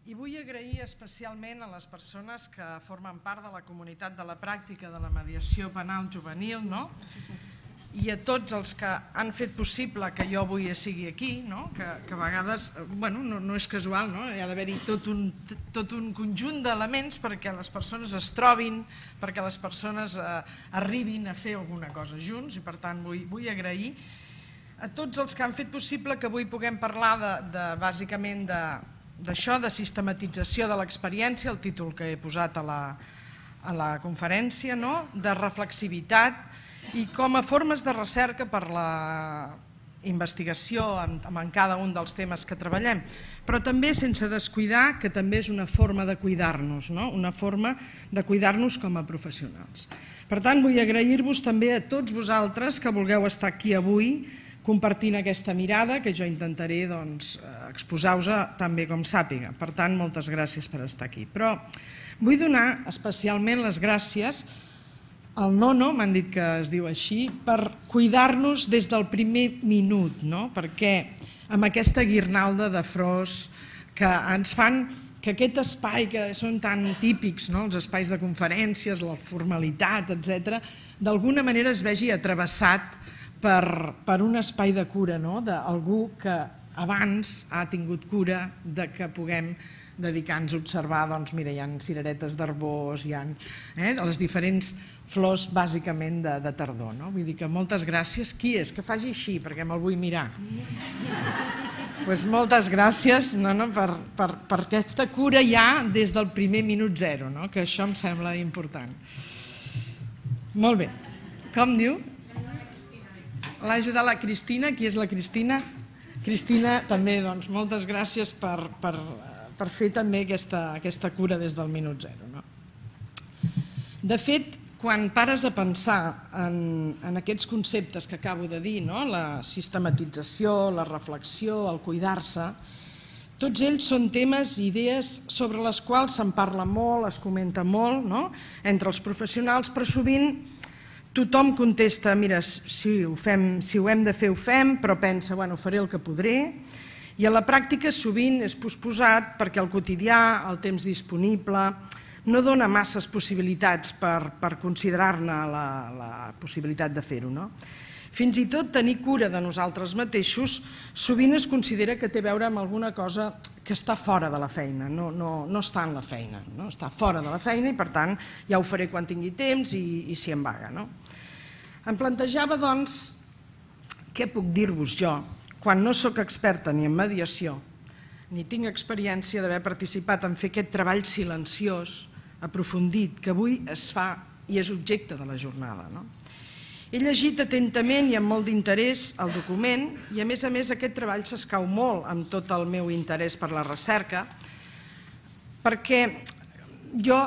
I vull agrair especialment a les persones que formen part de la comunitat de la pràctica de la mediació penal juvenil, i a tots els que han fet possible que jo avui sigui aquí, que a vegades no és casual, hi ha d'haver-hi tot un conjunt d'elements perquè les persones es trobin, perquè les persones arribin a fer alguna cosa junts, i per tant vull agrair a tots els que han fet possible que avui puguem parlar bàsicament d'això, de sistematització de l'experiència, el títol que he posat a la conferència, de reflexivitat i com a formes de recerca per la investigació en cada un dels temes que treballem, però també sense descuidar que també és una forma de cuidar-nos, una forma de cuidar-nos com a professionals. Per tant, vull agrair-vos també a tots vosaltres que vulgueu estar aquí avui compartint aquesta mirada que jo intentaré exposar-vos tan bé com sàpiga. Per tant, moltes gràcies per estar aquí. Però vull donar especialment les gràcies al Nono, m'han dit que es diu així, per cuidar-nos des del primer minut, perquè amb aquesta guirnalda de flors que ens fan que aquest espai que són tan típics, els espais de conferències, la formalitat, etc., d'alguna manera es vegi travessat per un espai de cura, d'algú que abans ha tingut cura que puguem dedicar-nos a observar, mira, hi ha cireretes d'arbós, hi ha les diferents flors bàsicament de tardor. Vull dir que moltes gràcies. Qui és? Que faci així, perquè me'l vull mirar. Doncs moltes gràcies per aquesta cura ja des del primer minut zero, que això em sembla important. Molt bé. Com diu? L'ha ajudat la Cristina. Qui és la Cristina? Cristina, també, moltes gràcies per fer també aquesta cura des del minut zero. De fet, quan pares a pensar en aquests conceptes que acabo de dir, la sistematització, la reflexió, el cuidar-se, tots ells són temes i idees sobre les quals se'n parla molt, es comenta molt entre els professionals, però sovint tothom contesta, mira, si ho hem de fer, ho fem, però pensa, faré el que podré, i a la pràctica sovint és posposat perquè el quotidià, el temps disponible, no dona masses possibilitats per considerar-ne la possibilitat de fer-ho. Fins i tot tenir cura de nosaltres mateixos sovint es considera que té a veure amb alguna cosa que està fora de la feina, no està en la feina, està fora de la feina i per tant ja ho faré quan tingui temps i si em vaga. Em plantejava, doncs, què puc dir-vos jo quan no sóc experta ni en mediació ni tinc experiència d'haver participat en fer aquest treball silenciós, aprofundit, que avui es fa i és objecte de la jornada. He llegit atentament i amb molt d'interès el document i a més aquest treball s'escau molt amb tot el meu interès per la recerca perquè jo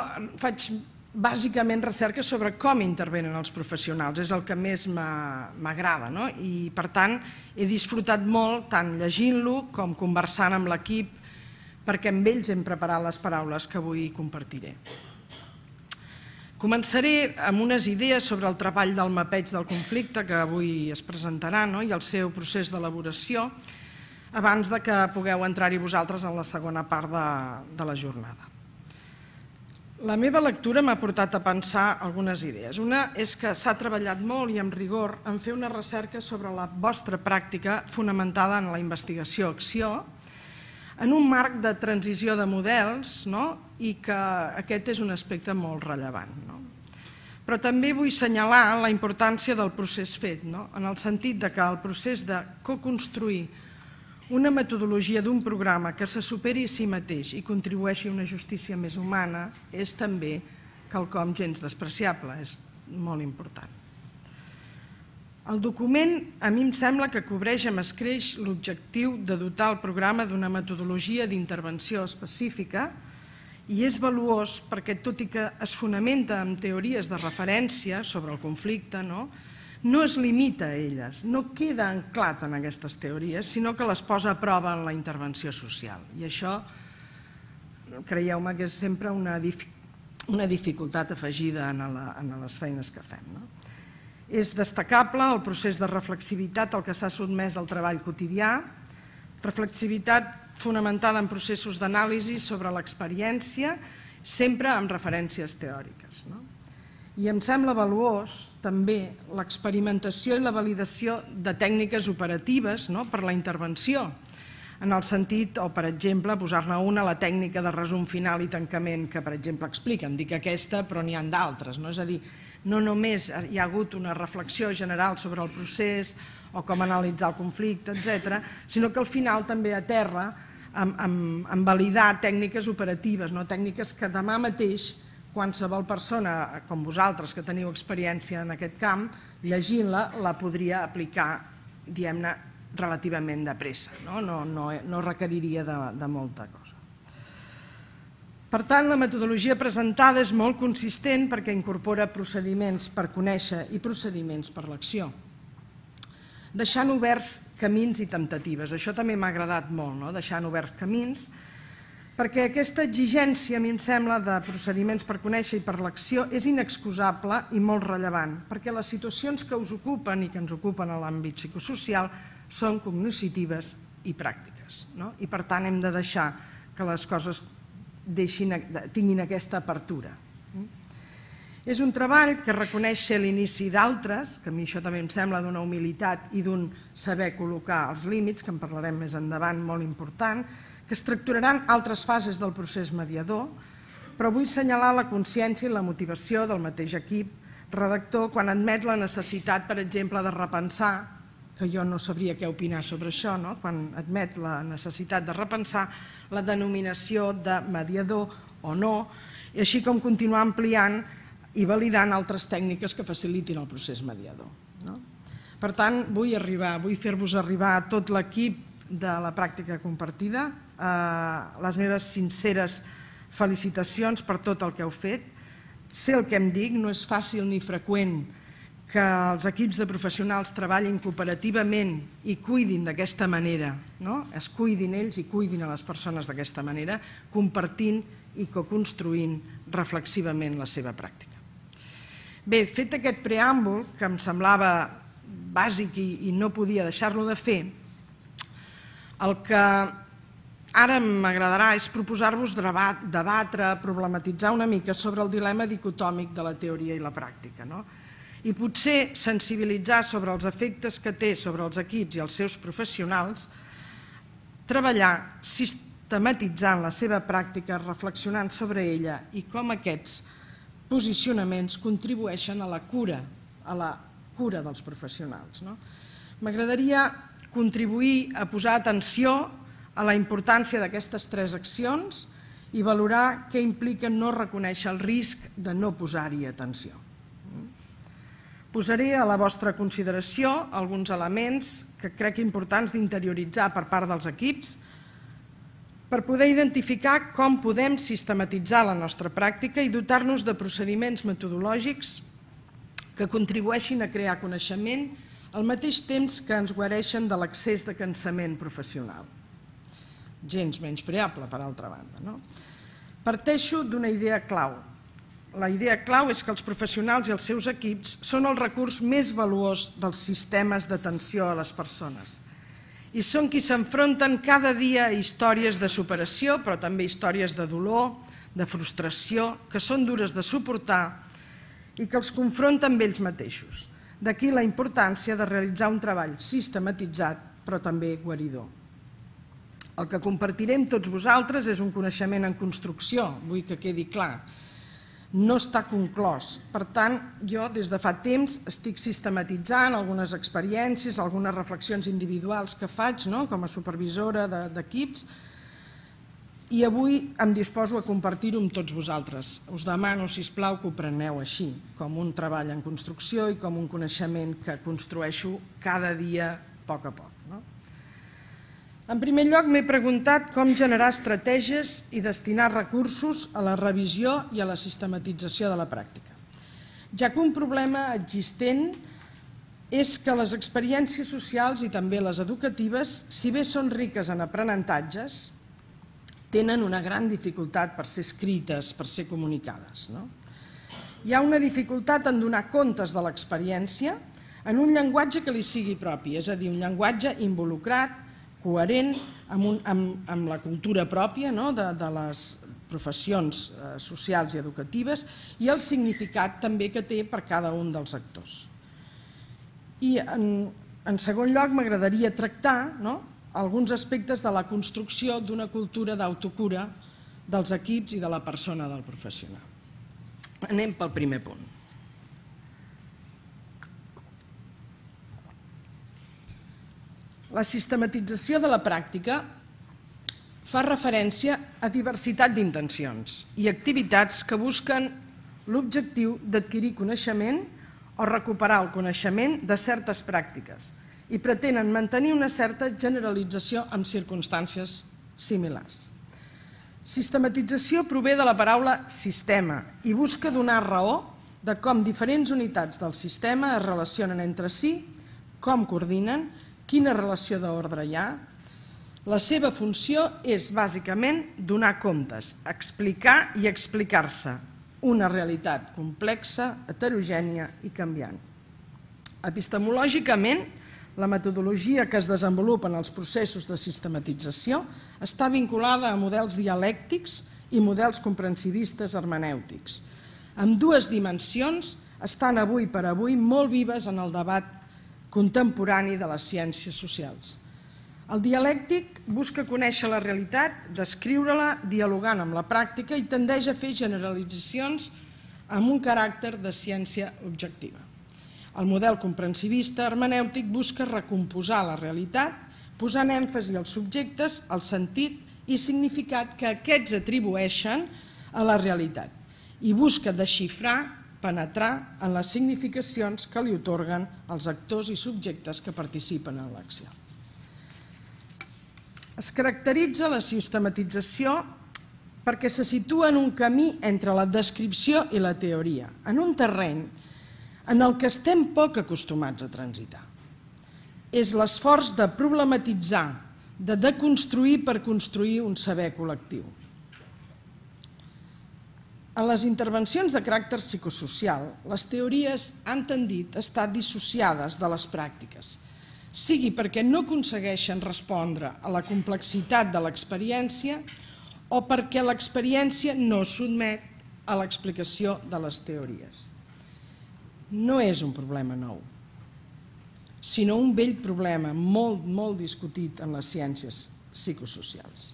faig bàsicament recerca sobre com intervenen els professionals, és el que més m'agrada i per tant he disfrutat molt tant llegint-lo com conversant amb l'equip perquè amb ells hem preparat les paraules que avui compartiré. Començaré amb unes idees sobre el treball del mapeig del conflicte que avui es presentarà i el seu procés d'elaboració abans que pugueu entrar-hi vosaltres en la segona part de la jornada. La meva lectura m'ha portat a pensar algunes idees. Una és que s'ha treballat molt i amb rigor en fer una recerca sobre la vostra pràctica fonamentada en la investigació-acció en un marc de transició de models i que aquest és un aspecte molt rellevant. Però també vull assenyalar la importància del procés fet, en el sentit que el procés de co-construir una metodologia d'un programa que se superi a si mateix i contribueixi a una justícia més humana és també quelcom gens despreciable, és molt important. El document a mi em sembla que cobreix amb escreix l'objectiu de dotar el programa d'una metodologia d'intervenció específica i és valuós perquè, tot i que es fonamenta en teories de referència sobre el conflicte, no es limita a elles, no queda anclat en aquestes teories, sinó que les posa a prova en la intervenció social. I això, creieu-me que és sempre una dificultat afegida en les feines que fem. És destacable el procés de reflexivitat al que s'ha sotmès el treball quotidià, reflexivitat fonamentada en processos d'anàlisi sobre l'experiència, sempre amb referències teòriques. I em sembla valuós també l'experimentació i la validació de tècniques operatives per la intervenció, en el sentit, o per exemple, posar-ne una, la tècnica de resum final i tancament que, per exemple, expliquen. Dic aquesta, però n'hi ha d'altres. És a dir, no només hi ha hagut una reflexió general sobre el procés o com analitzar el conflicte, etc., sinó que al final també aterra en validar tècniques operatives, tècniques que demà mateix qualsevol persona, com vosaltres, que teniu experiència en aquest camp, llegint-la, la podria aplicar, diguem-ne, relativament de pressa. No requeriria de molta cosa. Per tant, la metodologia presentada és molt consistent perquè incorpora procediments per conèixer i procediments per l'acció, deixant oberts camins i temptatives. Això també m'ha agradat molt, deixant oberts camins, perquè aquesta exigència, a mi em sembla, de procediments per conèixer i per l'acció és inexcusable i molt rellevant, perquè les situacions que us ocupen i que ens ocupen a l'àmbit psicosocial són cognoscitives i pràctiques. I per tant hem de deixar que les coses tinguin aquesta apertura. És un treball que reconeix l'inici d'altres, que a mi això també em sembla d'una humilitat i d'un saber col·locar els límits, que en parlarem més endavant, molt important, que estructuraran altres fases del procés mediador, però vull assenyalar la consciència i la motivació del mateix equip redactor quan admet la necessitat, per exemple, de repensar, que jo no sabria què opinar sobre això, quan admet la necessitat de repensar la denominació de mediador o no, i així com continuar ampliant i validant altres tècniques que facilitin el procés mediador. Per tant, vull fer-vos arribar a tot l'equip de la pràctica compartida les meves sinceres felicitacions per tot el que heu fet. Sé el que em dic, no és fàcil ni freqüent que els equips de professionals treballin cooperativament i cuidin d'aquesta manera, es cuidin ells i cuidin a les persones d'aquesta manera, compartint i coconstruint reflexivament la seva pràctica. Bé, fet aquest preàmbul, que em semblava bàsic i no podia deixar-lo de fer, el que ara m'agradarà és proposar-vos debatre, problematitzar una mica sobre el dilema dicotòmic de la teoria i la pràctica, i potser sensibilitzar sobre els efectes que té sobre els equips i els seus professionals, treballar sistematitzant la seva pràctica, reflexionant sobre ella i com aquests posicionaments contribueixen a la cura dels professionals. M'agradaria contribuir a posar atenció a la importància d'aquestes tres accions i valorar què implica no reconèixer el risc de no posar-hi atenció. Posaré a la vostra consideració alguns elements que crec importants d'interioritzar per part dels equips per poder identificar com podem sistematitzar la nostra pràctica i dotar-nos de procediments metodològics que contribueixin a crear coneixement al mateix temps que ens guareixen de l'excés de cansament professional. Gens menyspreable, per altra banda. Parteixo d'una idea clau. La idea clau és que els professionals i els seus equips són el recurs més valuós dels sistemes d'atenció a les persones i són qui s'enfronten cada dia a històries de superació, però també històries de dolor, de frustració, que són dures de suportar i que els confronten amb ells mateixos. D'aquí la importància de realitzar un treball sistematitzat, però també guaridor. El que compartirem tots vosaltres és un coneixement en construcció, vull que quedi clar. No està conclòs. Per tant, jo des de fa temps estic sistematitzant algunes experiències, algunes reflexions individuals que faig com a supervisora d'equips i avui em disposo a compartir-ho amb tots vosaltres. Us demano, sisplau, que ho preneu així, com un treball en construcció i com un coneixement que construeixo cada dia a poc. En primer lloc, m'he preguntat com generar estratègies i destinar recursos a la revisió i a la sistematització de la pràctica, ja que un problema existent és que les experiències socials i també les educatives, si bé són riques en aprenentatges, tenen una gran dificultat per ser escrites, per ser comunicades. Hi ha una dificultat en donar comptes de l'experiència en un llenguatge que li sigui propi, és a dir, un llenguatge involucrat, coherent amb la cultura pròpia de les professions socials i educatives i el significat també que té per cada un dels actors. I en segon lloc m'agradaria tractar alguns aspectes de la construcció d'una cultura d'autocura dels equips i de la persona del professional. Anem pel primer punt. La sistematització de la pràctica fa referència a diversitat d'intencions i activitats que busquen l'objectiu d'adquirir coneixement o recuperar el coneixement de certes pràctiques i pretenen mantenir una certa generalització en circumstàncies similars. Sistematització prové de la paraula sistema i busca donar raó de com diferents unitats del sistema es relacionen entre si, com coordinen, quina relació d'ordre hi ha. La seva funció és bàsicament donar comptes, explicar i explicar-se una realitat complexa, heterogènia i canviant. Epistemològicament, la metodologia que es desenvolupa en els processos de sistematització està vinculada a models dialèctics i models comprensivistes hermenèutics. Ambdues dimensions estan avui per avui molt vives en el debat contemporani de les ciències socials. El dialèctic busca conèixer la realitat, descriure-la dialogant amb la pràctica i tendeix a fer generalitzacions amb un caràcter de ciència objectiva. El model comprensivista hermenèutic busca recomposar la realitat, posant èmfasi als subjectes, al sentit i significat que aquests atribueixen a la realitat i busca desxifrar, penetrar en les significacions que li atorguen els actors i subjectes que participen en l'acció. Es caracteritza la sistematització perquè se situa en un camí entre la descripció i la teoria, en un terreny en el que estem poc acostumats a transitar. És l'esforç de problematitzar, de deconstruir per construir un saber col·lectiu. En les intervencions de caràcter psicosocial, les teories han tendit a estar dissociades de les pràctiques, sigui perquè no aconsegueixen respondre a la complexitat de l'experiència o perquè l'experiència no sotmet a l'explicació de les teories. No és un problema nou, sinó un vell problema molt discutit en les ciències psicosocials.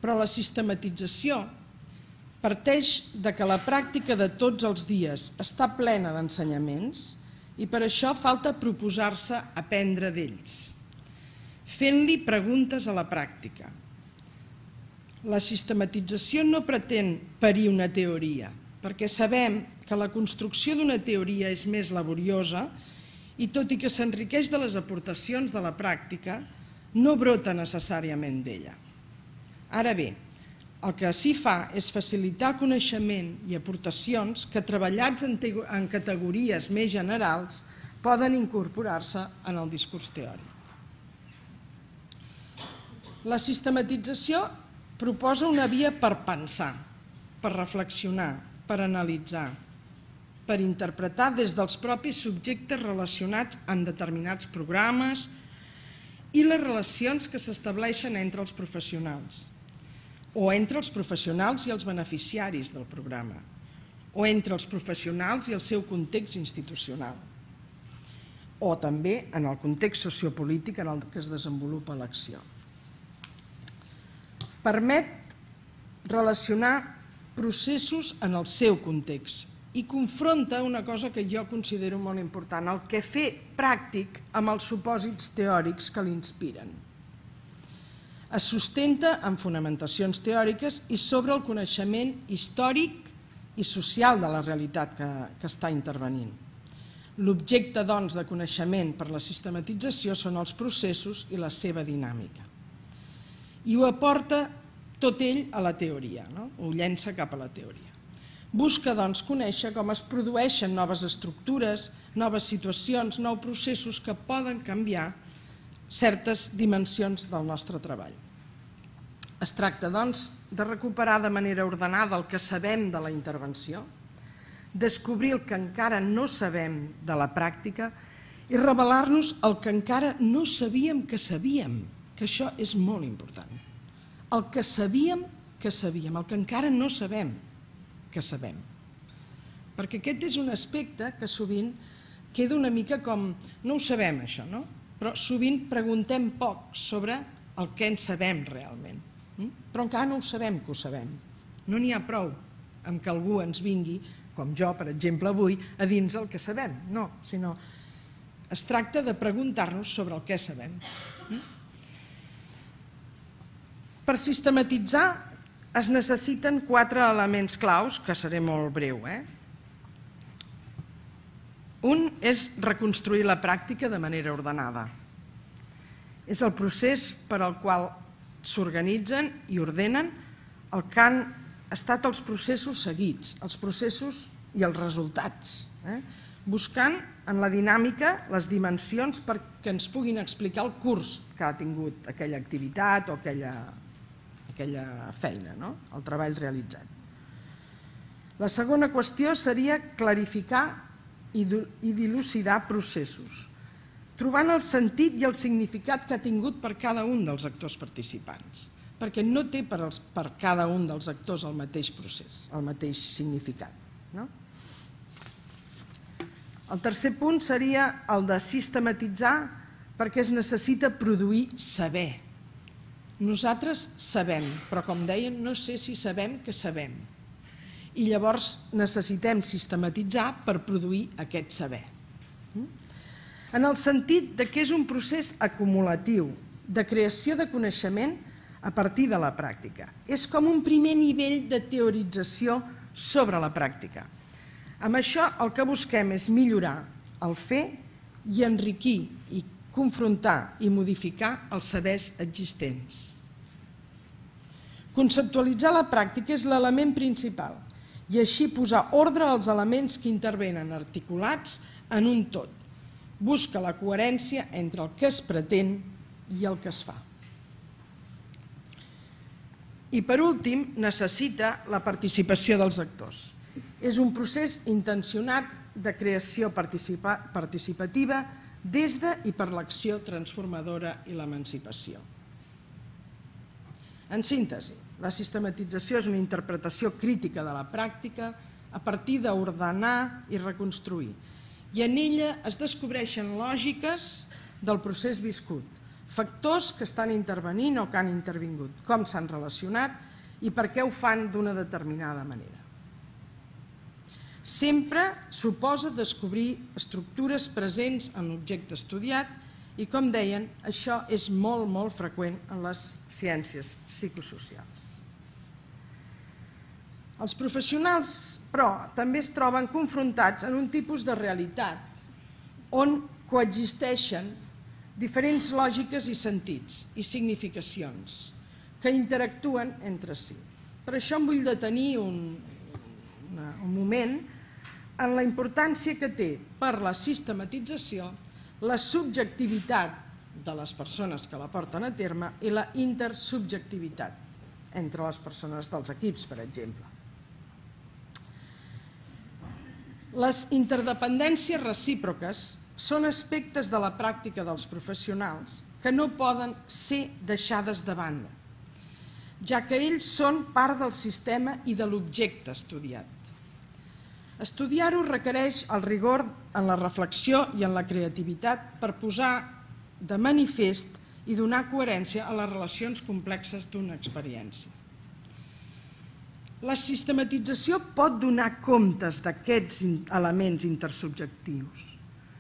Però la sistematització parteix que la pràctica de tots els dies està plena d'ensenyaments i per això falta proposar-se aprendre d'ells, fent-li preguntes a la pràctica. La sistematització no pretén parir una teoria, perquè sabem que la construcció d'una teoria és més laboriosa i tot i que s'enriqueix de les aportacions de la pràctica, no brota necessàriament d'ella. Ara bé, el que s'hi fa és facilitar coneixement i aportacions que, treballats en categories més generals, poden incorporar-se en el discurs teòric. La sistematització proposa una via per pensar, per reflexionar, per analitzar, per interpretar des dels propis subjectes relacionats amb determinats programes i les relacions que s'estableixen entre els professionals, o entre els professionals i els beneficiaris del programa, o entre els professionals i el seu context institucional, o també en el context sociopolític en el que es desenvolupa l'acció. Permet relacionar processos en el seu context i confronta una cosa que jo considero molt important, el que fer pràctic amb els supòsits teòrics que l'inspiren. Es sustenta en fonamentacions teòriques i sobre el coneixement històric i social de la realitat que està intervenint. L'objecte, doncs, de coneixement per la sistematització són els processos i la seva dinàmica. I ho aporta tot ell a la teoria, ho llença cap a la teoria. Busca, doncs, conèixer com es produeixen noves estructures, noves situacions, nous processos que poden canviar certes dimensions del nostre treball. Es tracta, doncs, de recuperar de manera ordenada el que sabem de la intervenció, descobrir el que encara no sabem de la pràctica i revelar-nos el que encara no sabíem que que això és molt important. El que sabíem, el que encara no sabem, que sabem. Perquè aquest és un aspecte que sovint queda una mica com, no ho sabem això, no? Però sovint preguntem poc sobre el que en sabem realment. Però encara no ho sabem que ho sabem. No n'hi ha prou amb que algú ens vingui, com jo, per exemple, avui, a dins el que sabem. No, sinó es tracta de preguntar-nos sobre el que sabem. Per sistematitzar es necessiten 4 elements claus, que seré molt breu. Un és reconstruir la pràctica de manera ordenada. És el procés per al qual s'organitzen i ordenen el que han estat els processos seguits, els processos i els resultats, buscant en la dinàmica les dimensions perquè ens puguin explicar el curs que ha tingut aquella activitat o aquella feina, el treball realitzat. La segona qüestió seria clarificar i dilucidar processos, trobant el sentit i el significat que ha tingut per cada un dels actors participants, perquè no té per cada un dels actors el mateix procés, el mateix significat. El tercer punt seria el de sistematitzar perquè es necessita produir saber. Nosaltres sabem, però com deien, no sé si sabem que sabem. I llavors necessitem sistematitzar per produir aquest saber. En el sentit que és un procés acumulatiu de creació de coneixement a partir de la pràctica. És com un primer nivell de teorització sobre la pràctica. Amb això el que busquem és millorar el fer i enriquir i confrontar i modificar els sabers existents. Conceptualitzar la pràctica és l'element principal i així posar ordre als elements que intervenen articulats en un tot. Busca la coherència entre el que es pretén i el que es fa. I per últim, necessita la participació dels actors. És un procés intencionat de creació participativa des de i per l'acció transformadora i l'emancipació. En síntesi, la sistematització és una interpretació crítica de la pràctica a partir d'ordenar i reconstruir, i en ella es descobreixen lògiques del procés viscut, factors que estan intervenint o que han intervingut, com s'han relacionat i per què ho fan d'una determinada manera. Sempre suposa descobrir estructures presents en l'objecte estudiat i, com deien, això és molt, molt freqüent en les ciències psicosocials. Els professionals, però, també es troben confrontats en un tipus de realitat on coexisteixen diferents lògiques i sentits i significacions que interactuen entre si. Per això em vull detenir un moment en la importància que té per la sistematització la subjectivitat de les persones que la porten a terme i la intersubjectivitat entre les persones dels equips, per exemple. Les interdependències recíproques són aspectes de la pràctica dels professionals que no poden ser deixades de banda, ja que ells són part del sistema i de l'objecte estudiat. Estudiar-ho requereix el rigor en la reflexió i en la creativitat per posar de manifest i donar coherència a les relacions complexes d'una experiència. La sistematització pot donar comptes d'aquests elements intersubjectius,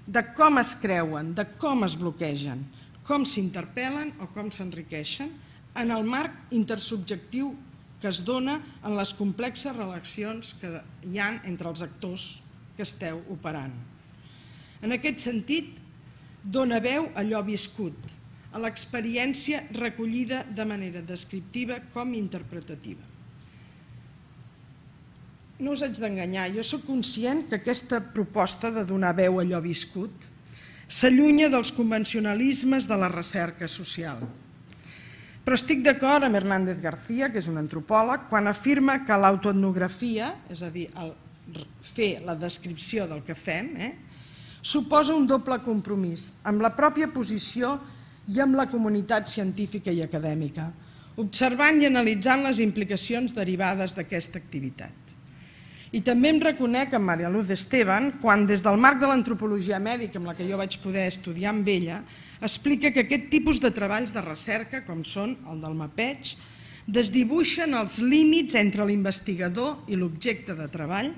de com es creuen, de com es bloquegen, com s'interpel·len o com s'enriqueixen en el marc intersubjectiu que es dona en les complexes relacions que hi ha entre els actors que esteu operant. En aquest sentit, dona veu a allò viscut, a l'experiència recollida de manera descriptiva com interpretativa. No us haig d'enganyar, jo soc conscient que aquesta proposta de donar veu a allò viscut s'allunya dels convencionalismes de la recerca social. Però estic d'acord amb Hernández García, que és un antropòleg, quan afirma que l'autoetnografia, és a dir, fer la descripció del que fem, suposa un doble compromís amb la pròpia posició i amb la comunitat científica i acadèmica, observant i analitzant les implicacions derivades d'aquesta activitat. I també em reconec amb Maria Luz Esteban quan, des del marc de l'antropologia mèdica amb la que jo vaig poder estudiar amb ella, explica que aquest tipus de treballs de recerca, com són el del mapeig, desdibuixen els límits entre l'investigador i l'objecte de treball,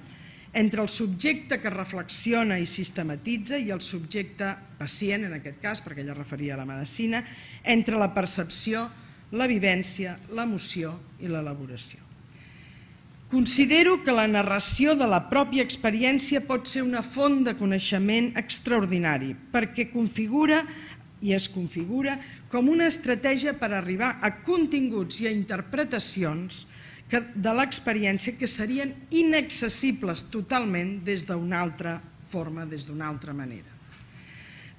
entre el subjecte que reflexiona i sistematitza i el subjecte pacient, en aquest cas, perquè ella referia a la medicina, entre la percepció, la vivència, l'emoció i l'elaboració. Considero que la narració de la pròpia experiència pot ser una font de coneixement extraordinari, perquè configura i es configura com una estratègia per arribar a continguts i a interpretacions de l'experiència que serien inaccessibles totalment des d'una altra forma, des d'una altra manera.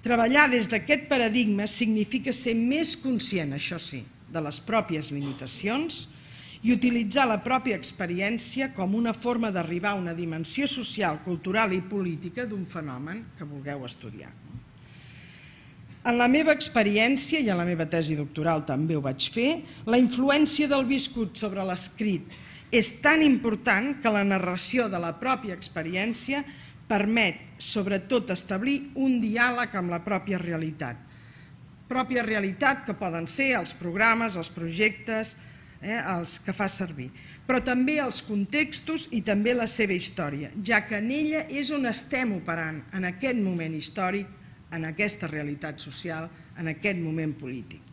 Treballar des d'aquest paradigma significa ser més conscient, això sí, de les pròpies limitacions i utilitzar la pròpia experiència com una forma d'arribar a una dimensió social, cultural i política d'un fenomen que vulgueu estudiar. En la meva experiència, i en la meva tesi doctoral també ho vaig fer, la influència del viscut sobre l'escrit és tan important que la narració de la pròpia experiència permet, sobretot, establir un diàleg amb la pròpia realitat. Pròpia realitat que poden ser els programes, els projectes, els que fa servir, però també els contextos i també la seva història, ja que en ella és on estem operant en aquest moment històric, en aquesta realitat social, en aquest moment polític.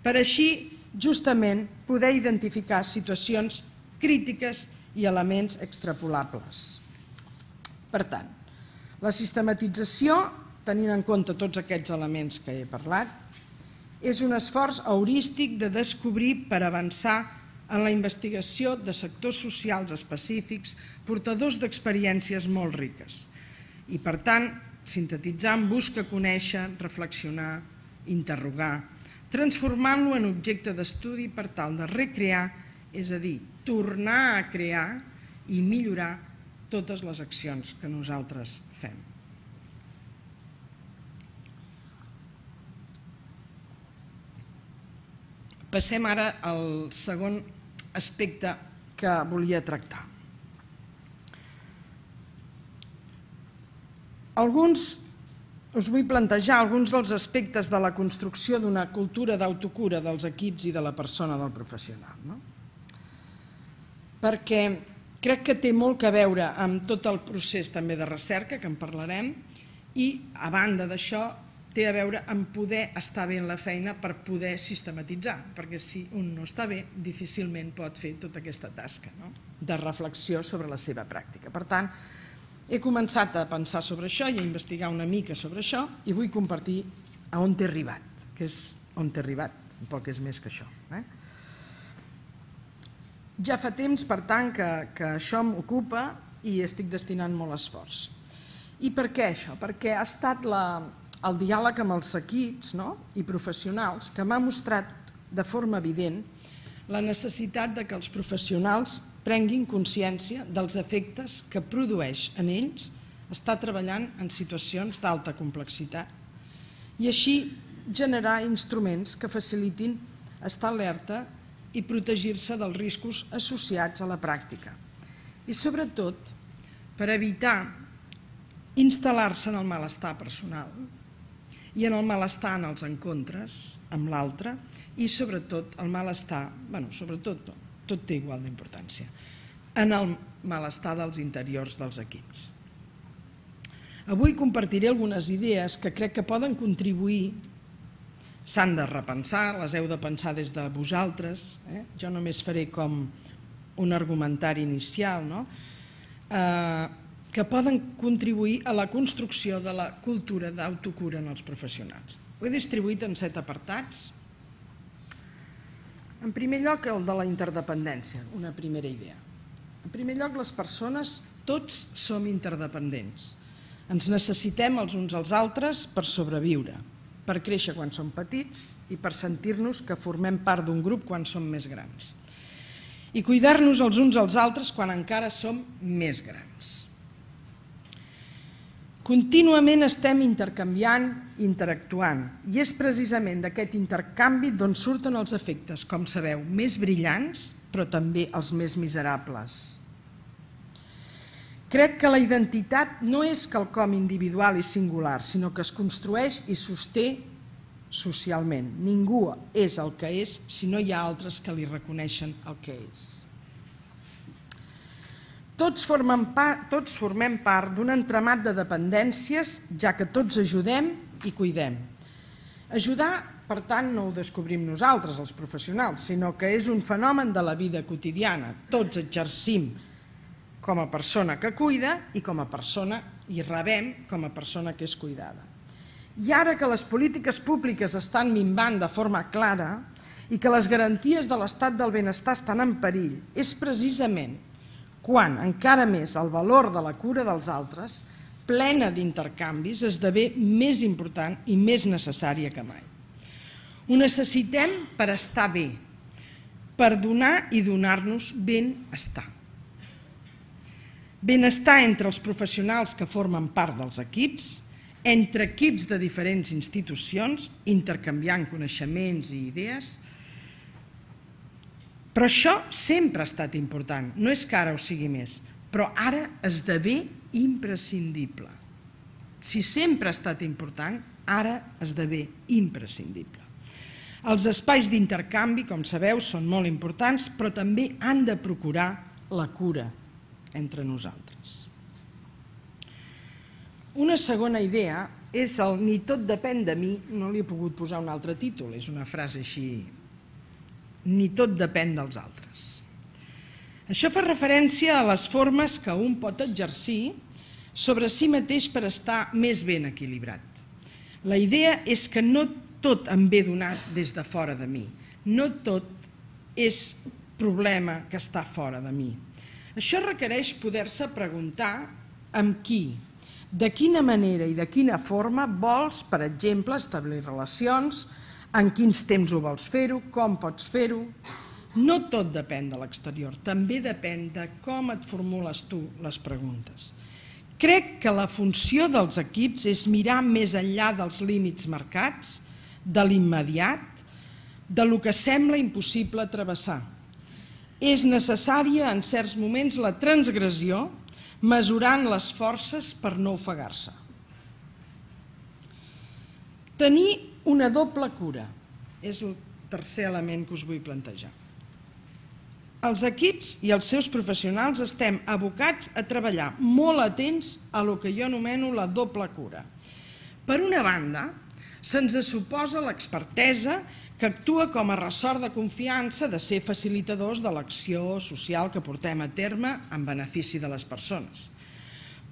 Per així, justament, poder identificar situacions crítiques i elements extrapolables. Per tant, la sistematització, tenint en compte tots aquests elements que he parlat, és un esforç heurístic de descobrir per avançar en la investigació de sectors socials específics portadors d'experiències molt riques. I, per tant, sintetitzant busca conèixer, reflexionar, interrogar, transformant-lo en objecte d'estudi per tal de recrear, és a dir, tornar a crear i millorar totes les accions que nosaltres fem. Passem ara al segon aspecte que volia tractar. Us vull plantejar alguns dels aspectes de la construcció d'una cultura d'autocura dels equips i de la persona del professional. Perquè crec que té molt a veure amb tot el procés també de recerca, que en parlarem, i a banda d'això té a veure amb poder estar bé en la feina per poder sistematitzar, perquè si un no està bé, difícilment pot fer tota aquesta tasca de reflexió sobre la seva pràctica. Per tant, he començat a pensar sobre això i a investigar una mica sobre això i vull compartir a on t'he arribat, que és on t'he arribat, tampoc és més que això. Ja fa temps, per tant, que això m'ocupa i estic destinant molt esforç. I per què això? Perquè ha estat el diàleg amb els equips i professionals que m'ha mostrat de forma evident la necessitat que els professionals prenguin consciència dels efectes que produeix en ells estar treballant en situacions d'alta complexitat i així generar instruments que facilitin estar alerta i protegir-se dels riscos associats a la pràctica. I sobretot per evitar instal·lar-se en el malestar personal i en el malestar en els encontres amb l'altre i sobretot el malestar, sobretot no, tot té igual d'importància, en el malestar dels interiors dels equips. Avui compartiré algunes idees que crec que poden contribuir, s'han de repensar, les heu de pensar des de vosaltres, jo només faré com un argumentari inicial, que poden contribuir a la construcció de la cultura d'autocura en els professionals. Ho he distribuït en 7 apartats. En primer lloc, el de la interdependència, una primera idea. En primer lloc, les persones, tots som interdependents. Ens necessitem els uns als altres per sobreviure, per créixer quan som petits i per sentir-nos que formem part d'un grup quan som més grans. I cuidar-nos els uns als altres quan encara som més grans. Contínuament estem intercanviant i interactuant, i és precisament d'aquest intercanvi d'on surten els efectes, com sabeu, més brillants, però també els més miserables. Crec que la identitat no és quelcom individual i singular, sinó que es construeix i sosté socialment. Ningú és el que és si no hi ha altres que li reconeixen el que és. Tots formem part d'un entramat de dependències, ja que tots ajudem i cuidem. Ajudar, per tant, no ho descobrim nosaltres, els professionals, sinó que és un fenomen de la vida quotidiana. Tots exercim com a persona que cuida i com a persona i rebem com a persona que és cuidada. I ara que les polítiques públiques estan minvant de forma clara i que les garanties de l'estat del benestar estan en perill, és precisament quan encara més el valor de la cura dels altres, plena d'intercanvis, esdevé més important i més necessària que mai. Ho necessitem per estar bé, per donar i donar-nos benestar. Benestar entre els professionals que formen part dels equips, entre equips de diferents institucions, intercanviant coneixements i idees. Però això sempre ha estat important, no és que ara ho sigui més, però ara esdevé imprescindible. Si sempre ha estat important, ara esdevé imprescindible. Els espais d'intercanvi, com sabeu, són molt importants, però també han de procurar la cura entre nosaltres. Una segona idea és el "ni tot depèn de mi", no li he pogut posar un altre títol, és una frase així, ni tot depèn dels altres. Això fa referència a les formes que un pot exercir sobre si mateix per estar més ben equilibrat. La idea és que no tot em ve donat des de fora de mi, no tot és problema que està fora de mi. Això requereix poder-se preguntar amb qui, de quina manera i de quina forma vols, per exemple, establir relacions, en quins temps ho vols fer-ho, com pots fer-ho. No tot depèn de l'exterior, també depèn de com et formules tu les preguntes. Crec que la funció dels equips és mirar més enllà dels límits marcats, de l'immediat, del que sembla impossible travessar. És necessària en certs moments la transgressió, mesurant les forces per no ofegar-se. Tenir una doble cura és el tercer element que us vull plantejar. Els equips i els seus professionals estem abocats a treballar molt atents a el que jo anomeno la doble cura. Per una banda, se'ns suposa l'expertesa que actua com a ressort de confiança de ser facilitadors de l'acció social que portem a terme en benefici de les persones.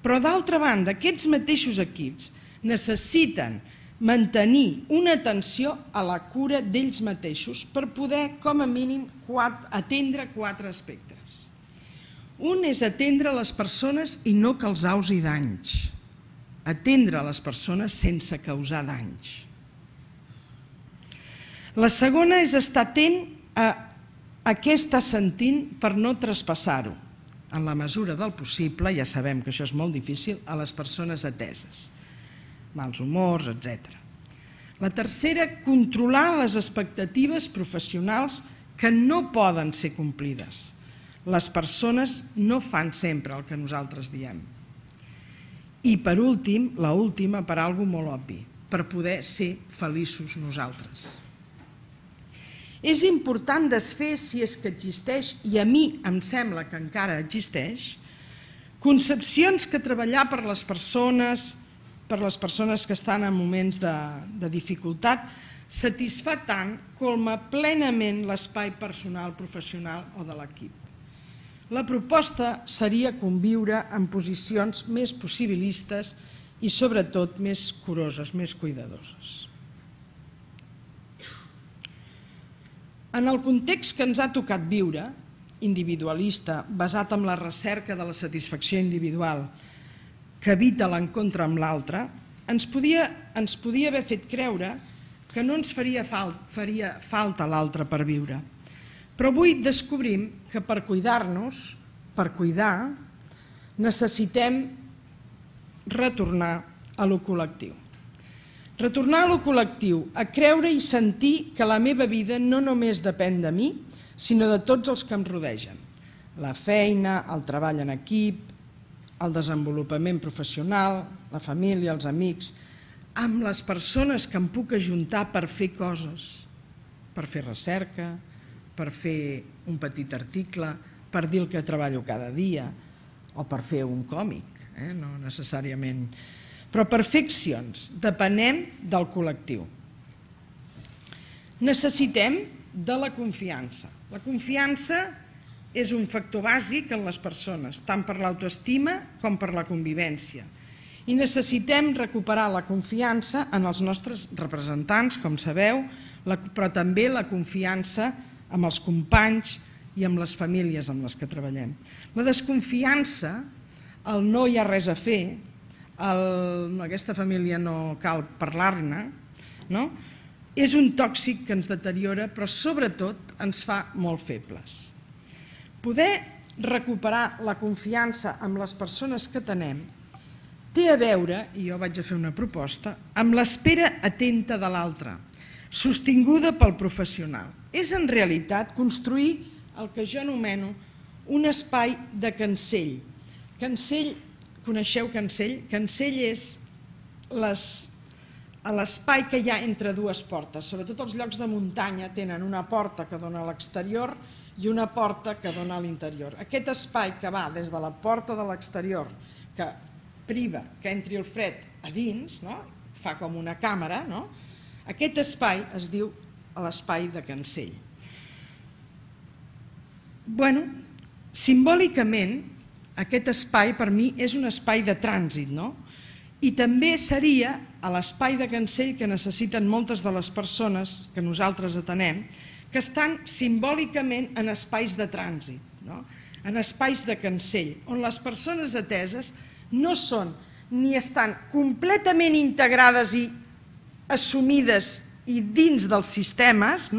Però d'altra banda, aquests mateixos equips necessiten mantenir una atenció a la cura d'ells mateixos per poder, com a mínim, atendre 4 aspectes. Un és atendre les persones i no causar-los danys. Atendre les persones sense causar danys. La segona és estar atent a què està sentint per no traspassar-ho, en la mesura del possible, ja sabem que això és molt difícil, a les persones ateses. Mals humors, etc. La tercera, controlar les expectatives professionals que no poden ser complides. Les persones no fan sempre el que nosaltres diem. I per últim, l'última, per alguna cosa molt obvi, per poder ser feliços nosaltres. És important desfer, si és que existeix, i a mi em sembla que encara existeix, concepcions que treballar per les persones que estan en moments de dificultat, satisfà tant com plenament l'espai personal, professional o de l'equip. La proposta seria conviure en posicions més possibilistes i sobretot més curoses, més cuidadoses. En el context que ens ha tocat viure, individualista, basat en la recerca de la satisfacció individual, que evita l'encontre amb l'altre, ens podia haver fet creure que no ens faria falta l'altre per viure. Però avui descobrim que per cuidar-nos, per cuidar, necessitem retornar a lo col·lectiu. Retornar a lo col·lectiu, a creure i sentir que la meva vida no només depèn de mi, sinó de tots els que em rodegen. La feina, el treball en equip, el desenvolupament professional, la família, els amics, amb les persones que em puc ajuntar per fer coses, per fer recerca, per fer un petit article, per dir el que treballo cada dia, o per fer un còmic, no necessàriament. Però per fer accions depenem del col·lectiu. Necessitem de la confiança. La confiança és un factor bàsic en les persones, tant per l'autoestima com per la convivència. I necessitem recuperar la confiança en els nostres representants, com sabeu, però també la confiança amb els companys i amb les famílies amb les que treballem. La desconfiança, el no hi ha res a fer, aquesta família no cal parlar-ne, és un tòxic que ens deteriora, però sobretot ens fa molt febles. Poder recuperar la confiança amb les persones que tenem té a veure, i jo vaig a fer una proposta, amb l'espera atenta de l'altre, sostinguda pel professional. És en realitat construir el que jo anomeno un espai de cancell. Cancell, coneixeu cancell? Cancell és l'espai que hi ha entre dues portes. Sobretot els llocs de muntanya tenen una porta que dona a l'exterior i una porta que dona a l'interior. Aquest espai que va des de la porta de l'exterior, que priva que entri el fred a dins, fa com una càmera, aquest espai es diu l'espai de cancell. Bé, simbòlicament, aquest espai per mi és un espai de trànsit, i també seria l'espai de cancell que necessiten moltes de les persones que nosaltres atenem, que estan simbòlicament en espais de trànsit, en espais de cancell, on les persones ateses no són ni estan completament integrades i assumides i dins dels sistemes,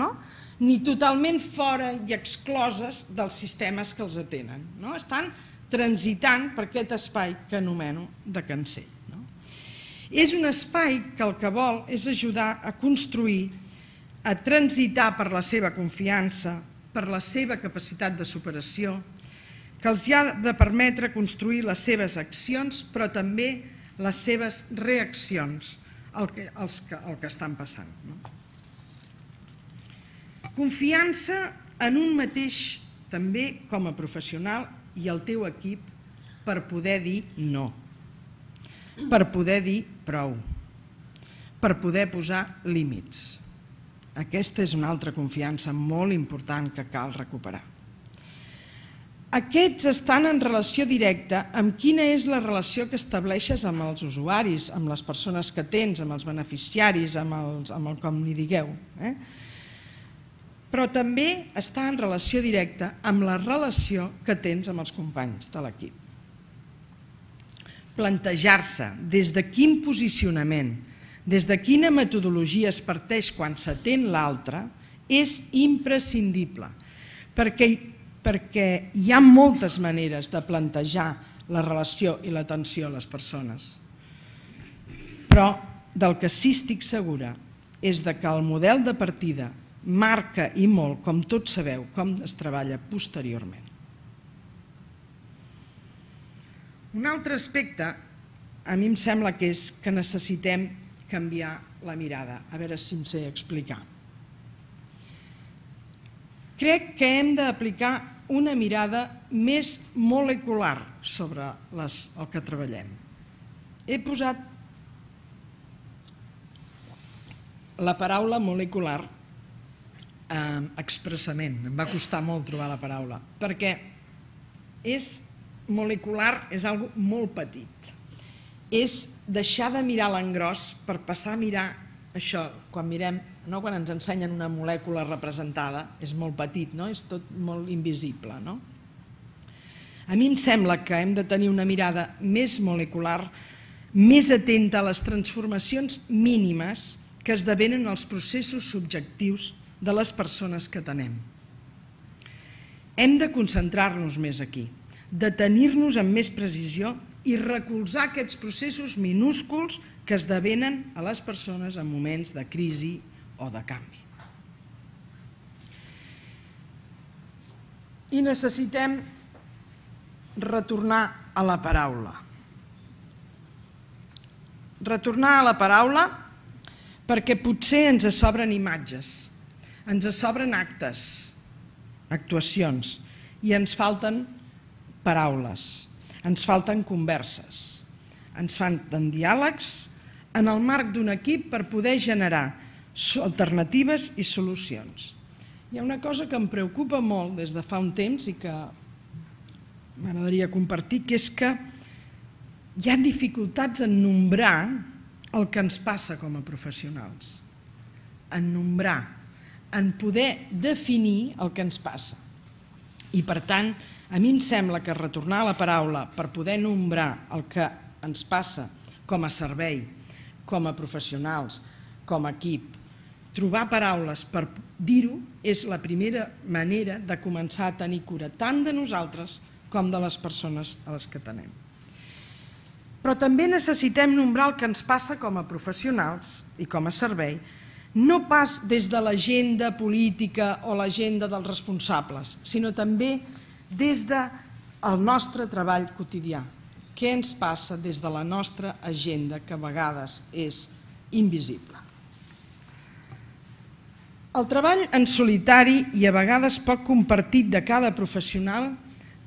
ni totalment fora i excloses dels sistemes que els atenen. Estan transitant per aquest espai que anomeno de cancell. És un espai que el que vol és ajudar a construir, a transitar per la seva confiança, per la seva capacitat de superació, que els ha de permetre construir les seves accions, però també les seves reaccions al que estan passant. Confiança en un mateix, també com a professional i el teu equip, per poder dir no, per poder dir prou, per poder posar límits. Aquesta és una altra confiança molt important que cal recuperar. Aquests estan en relació directa amb quina és la relació que estableixes amb els usuaris, amb les persones que tens, amb els beneficiaris, amb el com n'hi digueu. Però també està en relació directa amb la relació que tens amb els companys de l'equip. Plantejar-se des de quin posicionament, des de quina metodologia es parteix quan s'atén l'altre és imprescindible, perquè hi ha moltes maneres de plantejar la relació i l'atenció a les persones. Però del que sí estic segura és que el model de partida marca i molt, com tots sabeu, com es treballa posteriorment. Un altre aspecte, a mi em sembla que és que necessitem canviar la mirada. A veure si em sé explicar. Crec que hem d'aplicar una mirada més molecular sobre el que treballem. He posat la paraula molecular expressament, em va costar molt trobar la paraula, perquè molecular és una cosa molt petit. És deixar de mirar l'engròs per passar a mirar això, quan ens ensenyen una molècula representada, és molt petit, és tot molt invisible. A mi em sembla que hem de tenir una mirada més molecular, més atenta a les transformacions mínimes que esdevenen els processos subjectius de les persones que atenem. Hem de concentrar-nos més aquí, detenir-nos amb més precisió i recolzar aquests processos minúsculs que esdevenen a les persones en moments de crisi o de canvi. I necessitem retornar a la paraula. Retornar a la paraula perquè potser ens sobren imatges, ens sobren actes, actuacions, i ens falten paraules, ens falten converses, ens falten diàlegs en el marc d'un equip per poder generar alternatives i solucions. Hi ha una cosa que em preocupa molt des de fa un temps i que m'agradaria compartir, que és que hi ha dificultats en nombrar el que ens passa com a professionals, en nombrar, en poder definir el que ens passa. I per tant, a mi em sembla que retornar a la paraula per poder nombrar el que ens passa com a servei, com a professionals, com a equip, trobar paraules per dir-ho és la primera manera de començar a tenir cura tant de nosaltres com de les persones a les que tenem. Però també necessitem nombrar el que ens passa com a professionals i com a servei, no pas des de l'agenda política o l'agenda dels responsables, sinó també des del nostre treball quotidià. Què ens passa des de la nostra agenda, que a vegades és invisible? El treball en solitari i a vegades poc compartit de cada professional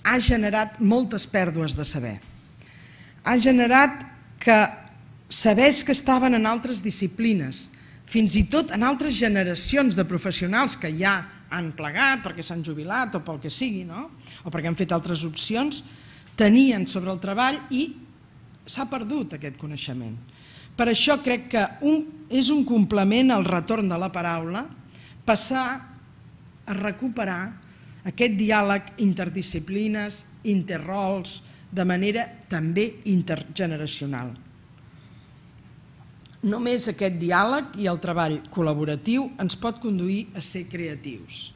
ha generat moltes pèrdues de saber. Ha generat que sabers que estaven en altres disciplines, fins i tot en altres generacions de professionals que ja han plegat perquè s'han jubilat o pel que sigui, o perquè han fet altres opcions, tenien sobre el treball i s'ha perdut aquest coneixement. Per això crec que és un complement al retorn de la paraula passar a recuperar aquest diàleg interdisciplines, interrols, de manera també intergeneracional. Només aquest diàleg i el treball col·laboratiu ens pot conduir a ser creatius.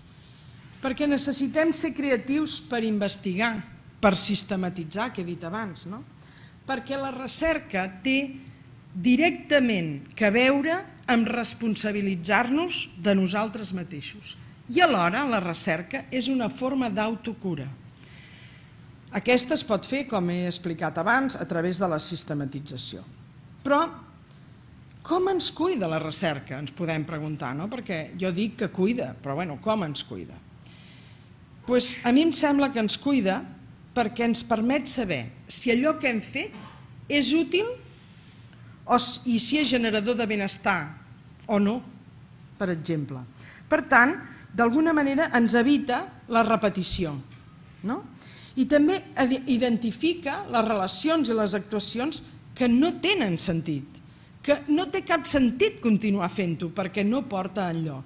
Perquè necessitem ser creatius per investigar, per sistematitzar, que he dit abans, perquè la recerca té directament a veure amb responsabilitzar-nos de nosaltres mateixos. I alhora la recerca és una forma d'autocura. Aquesta es pot fer, com he explicat abans, a través de la sistematització. Però com ens cuida la recerca? Ens podem preguntar, perquè jo dic que cuida, però com ens cuida? A mi em sembla que ens cuida perquè ens permet saber si allò que hem fet és útil i si és generador de benestar o no, per exemple. Per tant, d'alguna manera ens evita la repetició, i també identifica les relacions i les actuacions que no tenen sentit, que no té cap sentit continuar fent-ho perquè no porta enlloc.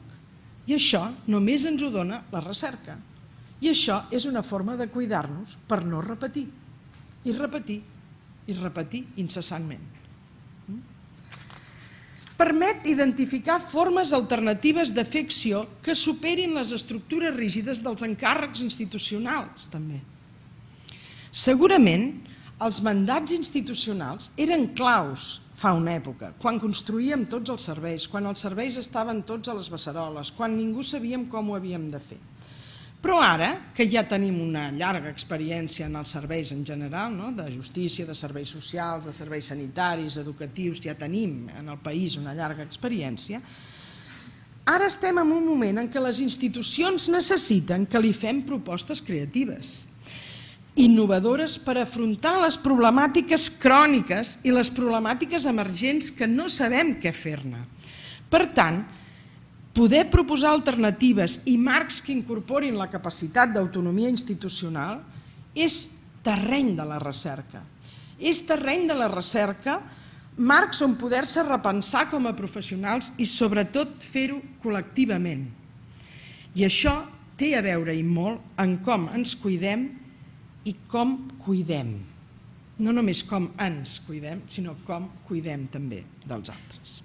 I això només ens ho dona la recerca. I això és una forma de cuidar-nos per no repetir, i repetir, i repetir incessantment. Permet identificar formes alternatives de fer acció que superin les estructures rígides dels encàrrecs institucionals, també. Segurament, els mandats institucionals eren claus fa una època, quan construíem tots els serveis, quan els serveis estaven tots a les beceroles, quan ningú sabíem com ho havíem de fer. Però ara, que ja tenim una llarga experiència en els serveis en general, de justícia, de serveis socials, de serveis sanitaris, educatius, ja tenim en el país una llarga experiència, ara estem en un moment en què les institucions necessiten que li fem propostes creatives, innovadores per afrontar les problemàtiques cròniques i les problemàtiques emergents que no sabem què fer-ne. Per tant, poder proposar alternatives i marcs que incorporin la capacitat d'autonomia institucional és terreny de la recerca. És terreny de la recerca, marcs on poder-se repensar com a professionals i sobretot fer-ho col·lectivament. I això té a veure i molt en com ens cuidem i com cuidem. No només com ens cuidem, sinó com cuidem també dels altres.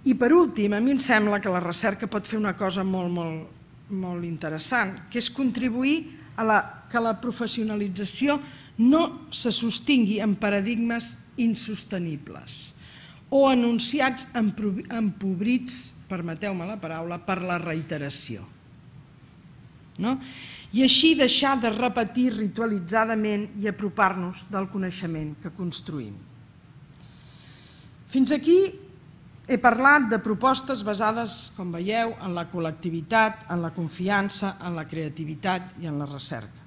I per últim, a mi em sembla que la recerca pot fer una cosa molt interessant, que és contribuir a que la professionalització no se sostingui en paradigmes insostenibles o enunciats empobrits, permeteu-me la paraula, per la reiteració. I així deixar de repetir ritualitzadament i apropar-nos del coneixement que construïm. Fins aquí he parlat de propostes basades, com veieu, en la col·lectivitat, en la confiança, en la creativitat i en la recerca.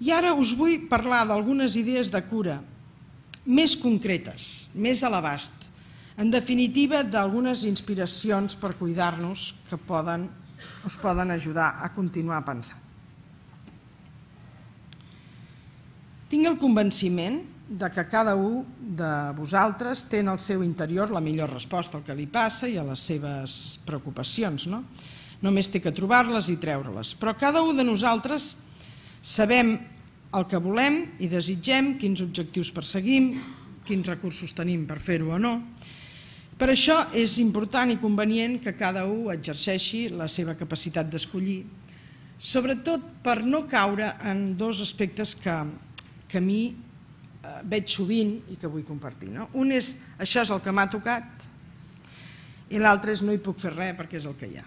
I ara us vull parlar d'algunes idees de cura més concretes, més a l'abast, en definitiva d'algunes inspiracions per cuidar-nos que us poden ajudar a continuar pensant. Tinc el convenciment que cada un de vosaltres té en el seu interior la millor resposta al que li passa i a les seves preocupacions. Només té que trobar-les i treure-les. Però cada un de nosaltres sabem el que volem i desitgem, quins objectius perseguim, quins recursos tenim per fer-ho o no. Per això és important i convenient que cada un exerceixi la seva capacitat d'escollir, sobretot per no caure en dos aspectes que a mi veig sovint i que vull compartir. Un és això és el que m'ha tocat i l'altre és no hi puc fer res perquè és el que hi ha.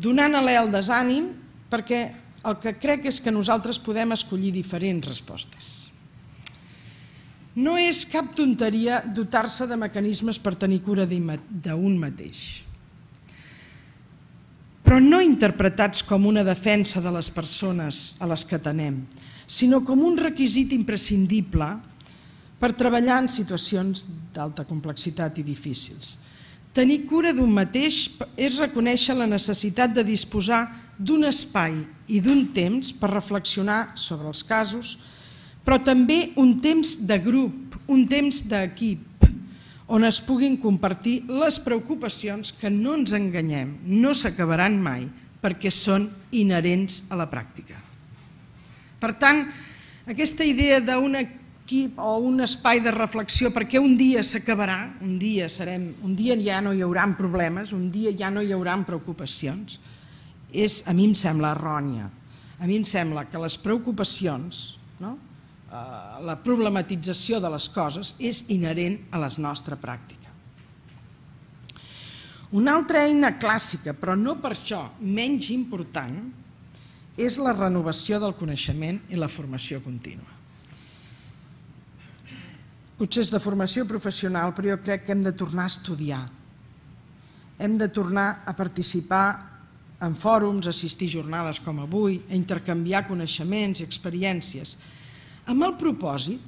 Donant alè al desànim perquè el que crec és que nosaltres podem escollir diferents respostes. No és cap tonteria dotar-se de mecanismes per tenir cura d'un mateix, però no interpretats com una defensa de les persones a les que atenem, sinó com un requisit imprescindible per treballar en situacions d'alta complexitat i difícils. Tenir cura d'un mateix és reconèixer la necessitat de disposar d'un espai i d'un temps per reflexionar sobre els casos, però també un temps de grup, un temps d'equip, on es puguin compartir les preocupacions que no ens enganyem, no s'acabaran mai, perquè són inherents a la pràctica. Per tant, aquesta idea d'un equip o un espai de reflexió perquè un dia s'acabarà, un dia ja no hi haurà problemes, un dia ja no hi haurà preocupacions, a mi em sembla errònia. A mi em sembla que les preocupacions, la problematització de les coses és inherent a la nostra pràctica. Una altra eina clàssica, però no per això menys important, és la renovació del coneixement i la formació contínua. Potser és de formació professional, però jo crec que hem de tornar a estudiar. Hem de tornar a participar en fòrums, a assistir a jornades com avui, a intercanviar coneixements i experiències, amb el propòsit,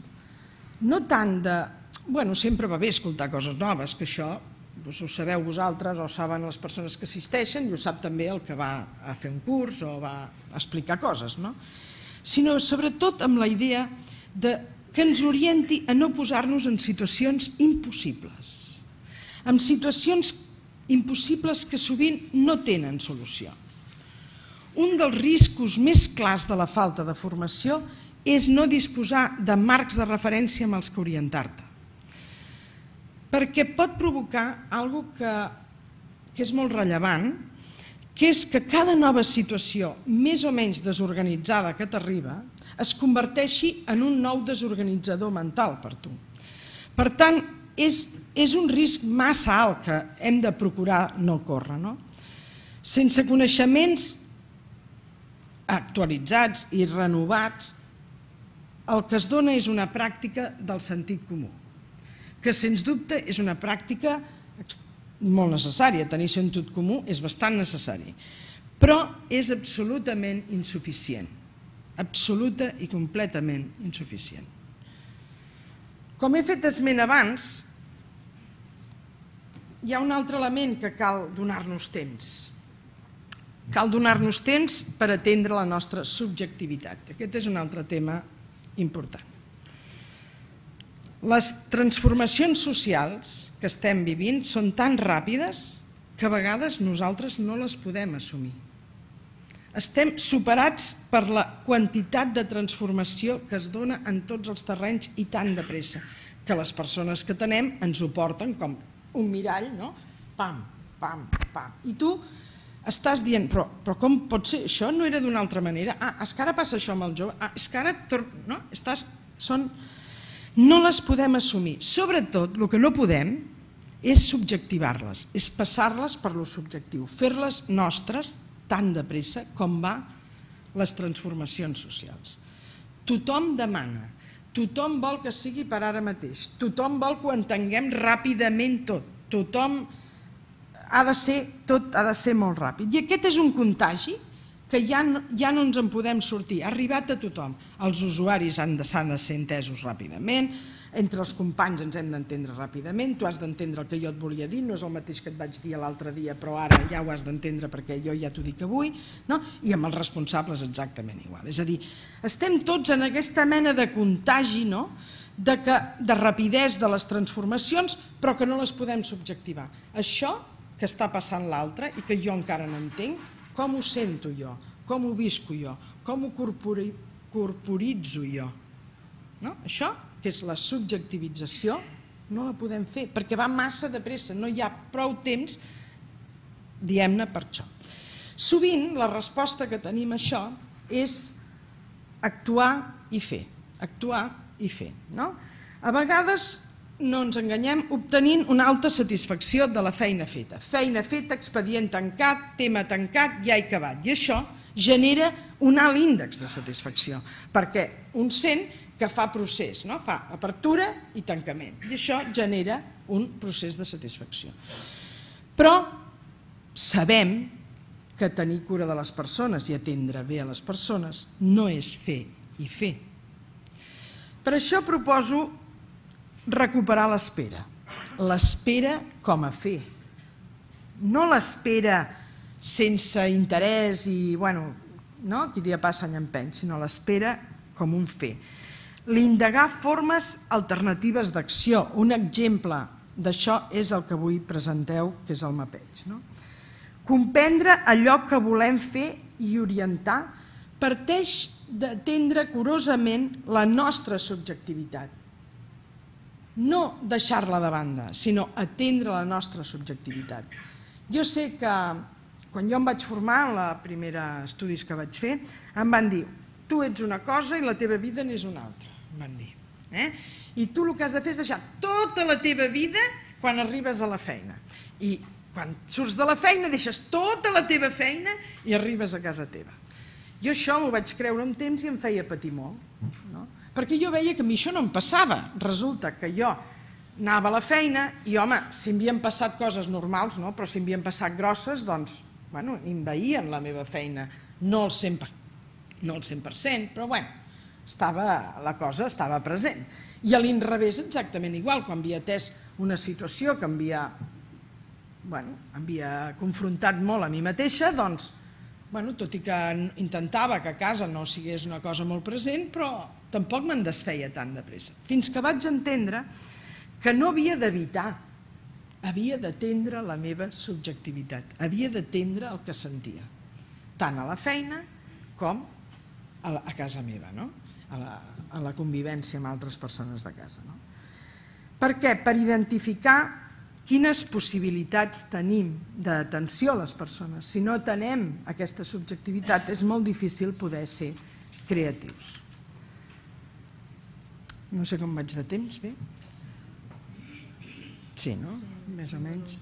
no tant de... sempre va bé escoltar coses noves, que això ho sabeu vosaltres o saben les persones que assisteixen i ho sap també el que va a fer un curs o va a explicar coses, sinó sobretot amb la idea que ens orienti a no posar-nos en situacions impossibles, en situacions impossibles que sovint no tenen solució. Un dels riscos més clars de la falta de formació és no disposar de marcs de referència amb els que orientar-te, perquè pot provocar una cosa que és molt rellevant, que és que cada nova situació més o menys desorganitzada que t'arriba es converteixi en un nou desorganitzador mental per tu. Per tant, és un risc massa alt que hem de procurar no córrer. Sense coneixements actualitzats i renovats, el que es dona és una pràctica del sentit comú, que sens dubte és una pràctica molt necessària. Tenir sentit comú és bastant necessari, però és absolutament insuficient, absoluta i completament insuficient. Com he fet esment abans, hi ha un altre element que cal donar-nos temps. Cal donar-nos temps per atendre la nostra subjectivitat. Aquest és un altre tema important. Les transformacions socials que estem vivint són tan ràpides que a vegades nosaltres no les podem assumir. Estem superats per la quantitat de transformació que es dona en tots els terrenys i tan de pressa, que les persones que tenem ens ho porten com un mirall, no? Pam, pam, pam. I tu estàs dient, però com pot ser? Això no era d'una altra manera. És que ara passa això amb el jove. És que ara... No les podem assumir. Sobretot, el que no podem és subjectivar-les, és passar-les per lo subjectiu, fer-les nostres tan de pressa com va les transformacions socials. Tothom demana, tothom vol que sigui per ara mateix, tothom vol que ho entenguem ràpidament tot, tothom tot ha de ser molt ràpid. I aquest és un contagi que ja no ens en podem sortir, ha arribat a tothom. Els usuaris s'han de ser entesos ràpidament, entre els companys ens hem d'entendre ràpidament, tu has d'entendre el que jo et volia dir, no és el mateix que et vaig dir l'altre dia, però ara ja ho has d'entendre perquè jo ja t'ho dic avui, i amb els responsables exactament igual. És a dir, estem tots en aquesta mena de contagi, de rapidesa de les transformacions, però que no les podem subjectivar. Això que està passant l'altre i que jo encara no entenc, com ho sento jo, com ho visco jo, com ho corporitzo jo. Això, que és la subjectivització, no la podem fer, perquè va massa de pressa, no hi ha prou temps, diguem-ne, per això. Sovint la resposta que tenim a això és actuar i fer, actuar i fer. A vegades, no ens enganyem, obtenint una alta satisfacció de la feina feta. Feina feta, expedient tancat, tema tancat, ja he acabat. I això genera un alt índex de satisfacció, perquè un sent que fa procés, fa apertura i tancament. I això genera un procés de satisfacció. Però sabem que tenir cura de les persones i atendre bé a les persones no és fer i fer. Per això proposo recuperar l'espera. L'espera com a fer. No l'espera sense interès i, qui dia passa any empeny, sinó l'espera com un fer. L'indagar formes alternatives d'acció. Un exemple d'això és el que avui presenteu, que és el mapeig. Comprendre allò que volem fer i orientar parteix d'atendre curosament la nostra subjectivitat. No deixar-la de banda, sinó atendre la nostra subjectivitat. Jo sé que quan jo em vaig formar, en els primers estudis que vaig fer, em van dir: tu ets una cosa i la teva vida n'és una altra, em van dir. I tu el que has de fer és deixar tota la teva vida quan arribes a la feina. I quan surts de la feina deixes tota la teva feina i arribes a casa teva. Jo això m'ho vaig creure un temps i em feia patir molt, perquè jo veia que a mi això no em passava. Resulta que jo anava a la feina i, home, si m'havien passat coses normals, però si m'havien passat grosses, doncs, envaïen la meva feina. No al 100%, però la cosa estava present. I a l'inrevés exactament igual, quan havia atès una situació que m'havia confrontat molt a mi mateixa, doncs, tot i que intentava que a casa no sigués una cosa molt present, però tampoc me'n desfeia tan de pressa. Fins que vaig entendre que no havia d'evitar, havia d'atendre la meva subjectivitat, havia d'atendre el que sentia, tant a la feina com a casa meva, a la convivència amb altres persones de casa. Per què? Per identificar quines possibilitats tenim d'atenció a les persones. Si no atenem aquesta subjectivitat, és molt difícil poder ser creatius. No sé com vaig de temps, bé? Sí, no? Més o menys.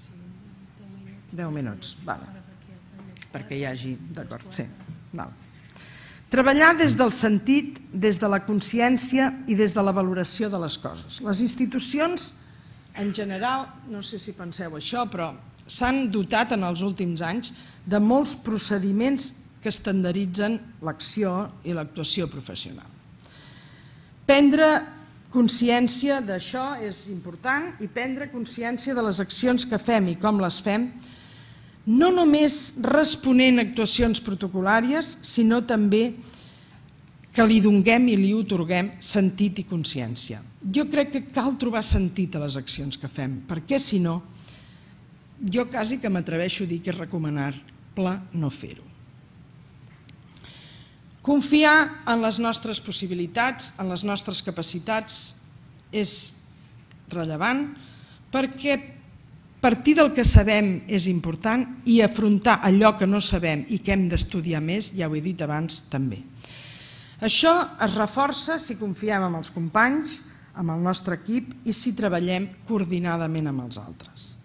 10 minuts, perquè hi hagi... D'acord, sí. Treballar des del sentit, des de la consciència i des de la valoració de les coses. Les institucions, en general, no sé si penseu això, però s'han dotat en els últims anys de molts procediments que estandarditzen l'acció i l'actuació professional. Prendre consciència d'això és important i prendre consciència de les accions que fem i com les fem, no només responent a actuacions protocolàries, sinó també que li donem i li atorguem sentit i consciència. Jo crec que cal trobar sentit a les accions que fem, perquè si no, jo quasi que m'atreveixo a dir que és recomanable no fer-ho. Confiar en les nostres possibilitats, en les nostres capacitats, és rellevant perquè Partir del que sabem és important i afrontar allò que no sabem i que hem d'estudiar més, ja ho he dit abans, també. Això es reforça si confiem en els companys, amb el nostre equip i si treballem coordinadament amb els altres.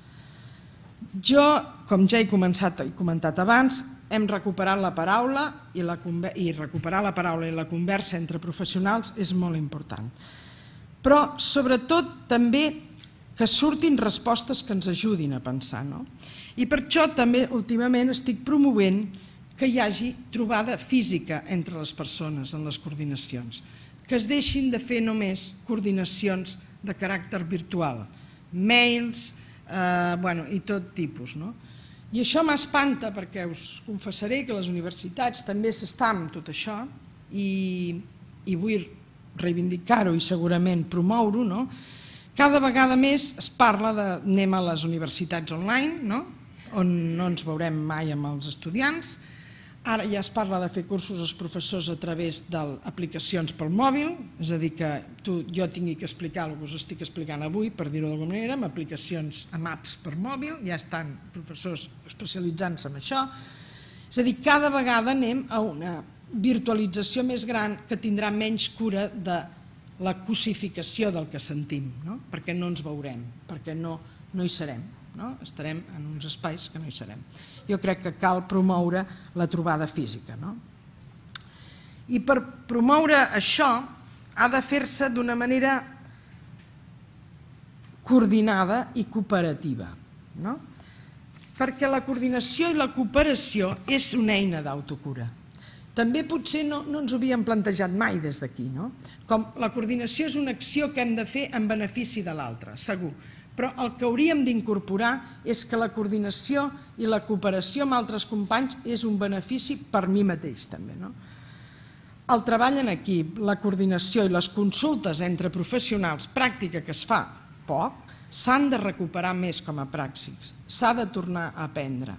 Jo, com ja he comentat abans, hem recuperat la paraula i recuperar la paraula i la conversa entre professionals és molt important. Però, sobretot, també que surtin respostes que ens ajudin a pensar. I per això també últimament estic promovent que hi hagi trobada física entre les persones en les coordinacions, que es deixin de fer només coordinacions de caràcter virtual, mails i tot tipus. I això m'espanta perquè us confessaré que les universitats també s'estan amb tot això i vull reivindicar-ho i segurament promoure-ho. Cada vegada més es parla d'anem a les universitats online, on no ens veurem mai amb els estudiants. Ara ja es parla de fer cursos als professors a través d'aplicacions pel mòbil, és a dir, que jo tingui que explicar el que us estic explicant avui, per dir-ho d'alguna manera, amb aplicacions, amb apps per mòbil, ja estan professors especialitzant-se en això. És a dir, cada vegada anem a una virtualització més gran que tindrà menys cura de la cosificació del que sentim, perquè no ens veurem, perquè no hi serem, estarem en uns espais que no hi serem. Jo crec que cal promoure la trobada física. I per promoure això ha de fer-se d'una manera coordinada i cooperativa, perquè la coordinació i la cooperació és una eina d'autocura. També potser no ens ho havíem plantejat mai des d'aquí, com la coordinació és una acció que hem de fer en benefici de l'altre, segur, però el que hauríem d'incorporar és que la coordinació i la cooperació amb altres companys és un benefici per mi mateix també. El treball en equip, la coordinació i les consultes entre professionals, pràctica que es fa poc, s'han de recuperar més com a praxis, s'ha de tornar a aprendre.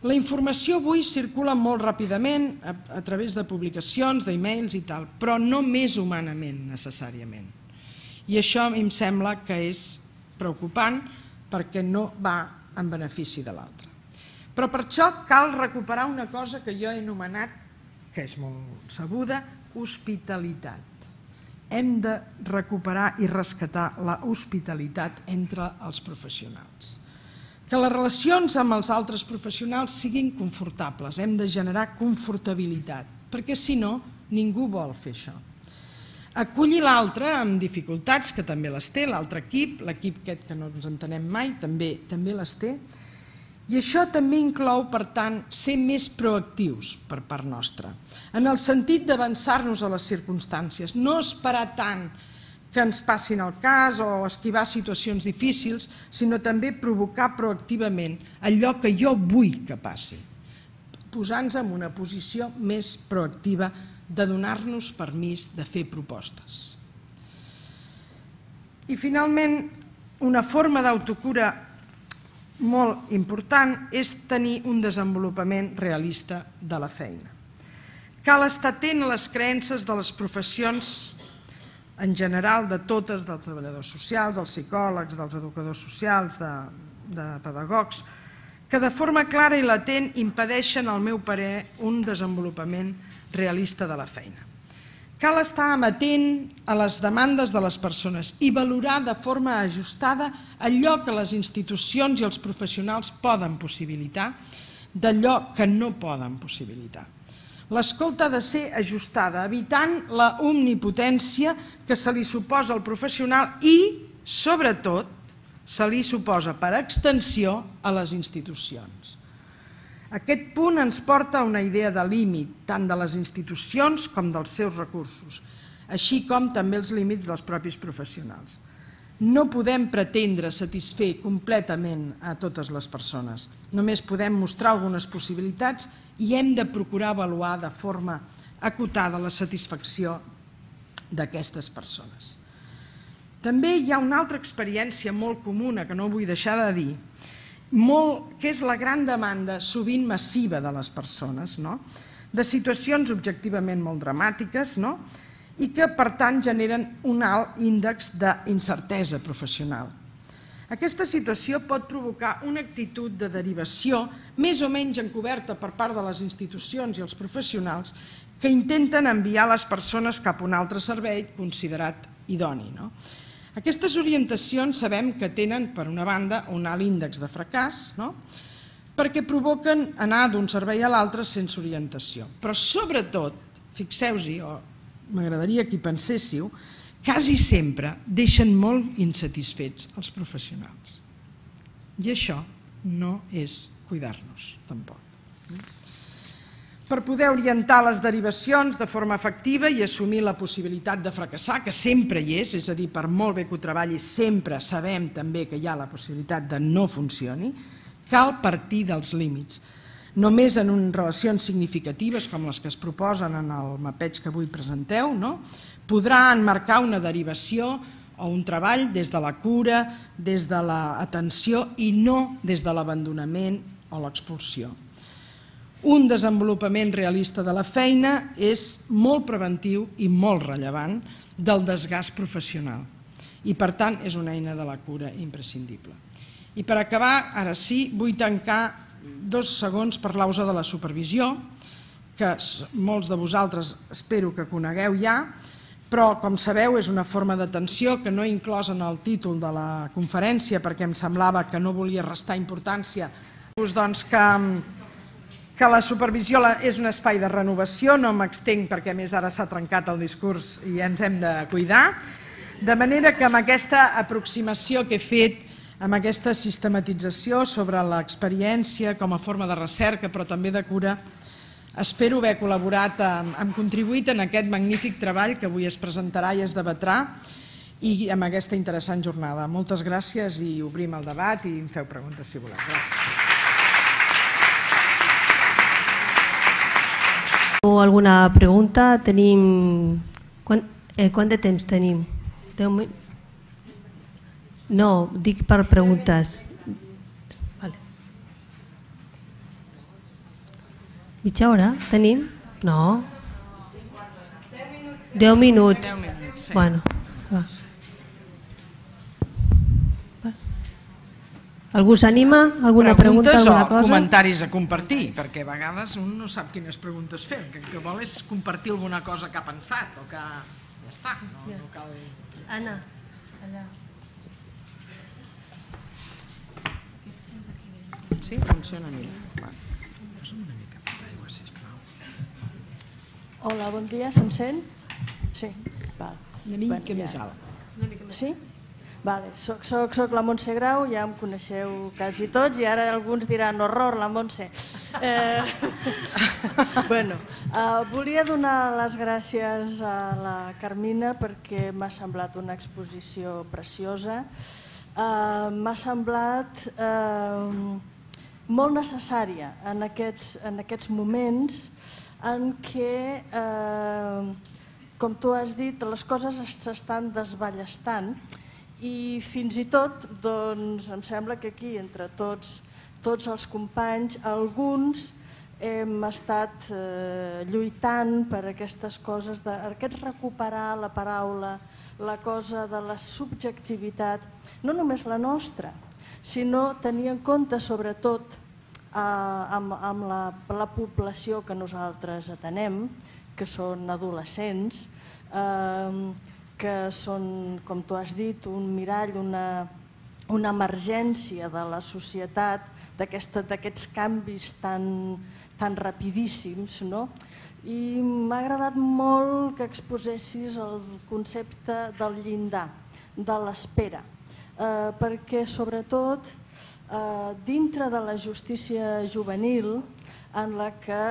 La informació avui circula molt ràpidament a través de publicacions, d'e-mails i tal, però no més humanament necessàriament. I això a mi em sembla que és preocupant perquè no va en benefici de l'altre. Però per això cal recuperar una cosa que jo he anomenat, que és molt sabuda, hospitalitat. Hem de recuperar i rescatar la hospitalitat entre els professionals. Que les relacions amb els altres professionals siguin confortables, hem de generar confortabilitat, perquè si no, ningú vol fer això. Acollir l'altre amb dificultats, que també les té, l'altre equip, l'equip aquest que no ens entenem mai, també les té, i això també inclou, per tant, ser més proactius per part nostra, en el sentit d'avançar-nos a les circumstàncies, no esperar tant que ens passin el cas o esquivar situacions difícils, sinó també provocar proactivament allò que jo vull que passi, posant-nos en una posició més proactiva de donar-nos permís de fer propostes. I finalment, una forma d'autocura molt important és tenir un desenvolupament realista de la feina. Cal estar atent a les creences de les professions en general, de totes, dels treballadors socials, dels psicòlegs, dels educadors socials, de pedagogs, que de forma clara i latent impedeixen, al meu parer, un desenvolupament realista de la feina. Cal estar amatent a les demandes de les persones i valorar de forma ajustada allò que les institucions i els professionals poden possibilitar d'allò que no poden possibilitar. L'escolta ha de ser ajustada, evitant la omnipotència que se li suposa al professional i, sobretot, se li suposa per extensió a les institucions. Aquest punt ens porta a una idea de límit, tant de les institucions com dels seus recursos, així com també els límits dels propis professionals. No podem pretendre satisfer completament a totes les persones. Només podem mostrar algunes possibilitats i hem de procurar avaluar de forma acotada la satisfacció d'aquestes persones. També hi ha una altra experiència molt comuna que no vull deixar de dir, que és la gran demanda sovint massiva de les persones, de situacions objectivament molt dramàtiques, i que, per tant, generen un alt índex d'incertesa professional. Aquesta situació pot provocar una actitud de derivació més o menys encoberta per part de les institucions i els professionals que intenten enviar les persones cap a un altre servei considerat idoni. Aquestes orientacions sabem que tenen, per una banda, un alt índex de fracàs, perquè provoquen anar d'un servei a l'altre sense orientació. Però sobretot, fixeu-hi, o m'agradaria que hi penséssiu, quasi sempre deixen molt insatisfets els professionals. I això no és cuidar-nos, tampoc. Per poder orientar les derivacions de forma efectiva i assumir la possibilitat de fracassar, que sempre hi és a dir, per molt bé que ho treballi, sempre sabem també que hi ha la possibilitat de no funcioni, cal partir dels límits. Només en relacions significatives, com les que es proposen en el mapeig que avui presenteu, podrà enmarcar una derivació o un treball des de la cura, des de l'atenció i no des de l'abandonament o l'expulsió. Un desenvolupament realista de la feina és molt preventiu i molt rellevant del desgast professional i, per tant, és una eina de la cura imprescindible. I per acabar, ara sí, vull tancar 2 segons per l'auge de la supervisió, que molts de vosaltres espero que conegueu ja, però, com sabeu, és una forma d'atenció que no he inclòs en el títol de la conferència perquè em semblava que no volia restar importància, doncs que la supervisió és un espai de renovació, no m'extenc perquè a més ara s'ha trencat el discurs i ens hem de cuidar, de manera que amb aquesta aproximació que he fet, amb aquesta sistematització sobre l'experiència com a forma de recerca però també de cura, espero haver col·laborat, hem contribuït en aquest magnífic treball que avui es presentarà i es debatrà i amb aquesta interessant jornada. Moltes gràcies i obrim el debat i em feu preguntes si voleu. Gràcies. Alguna pregunta? Tenim... Quant de temps tenim? No, dic per preguntes. Mitja hora tenim? No. 10 minuts. Bueno, va. Algú s'anima? Alguna pregunta? Preguntes alguna o cosa? comentaris a compartir, perquè a vegades un no sap quines preguntes fer, el que vol és compartir alguna cosa que ha pensat o que ja està. No cal... Anna, allà. Sí, funciona millor. Posa'm una mica més d'aigua, sisplau. Hola, bon dia, se'm sent? Sí, val. Una mica més alt. Sí? Vale, soc la Montse Grau, ja em coneixeu quasi tots i ara alguns diran horror, la Montse. Volia donar les gràcies a la Carmina perquè m'ha semblat una exposició preciosa. M'ha semblat molt necessària en aquests moments en què, com tu has dit, les coses s'estan desballestant i fins i tot em sembla que aquí, entre tots els companys, alguns hem estat lluitant per aquestes coses, aquest recuperar la paraula, la cosa de la subjectivitat, no només la nostra, sinó tenir en compte sobretot amb la població que nosaltres atenem, que són adolescents, que són, com tu has dit, un mirall, una emergència de la societat, d'aquests canvis tan rapidíssims. I m'ha agradat molt que exposessis el concepte del llindar, de l'espera, perquè sobretot dintre de la justícia juvenil, en la que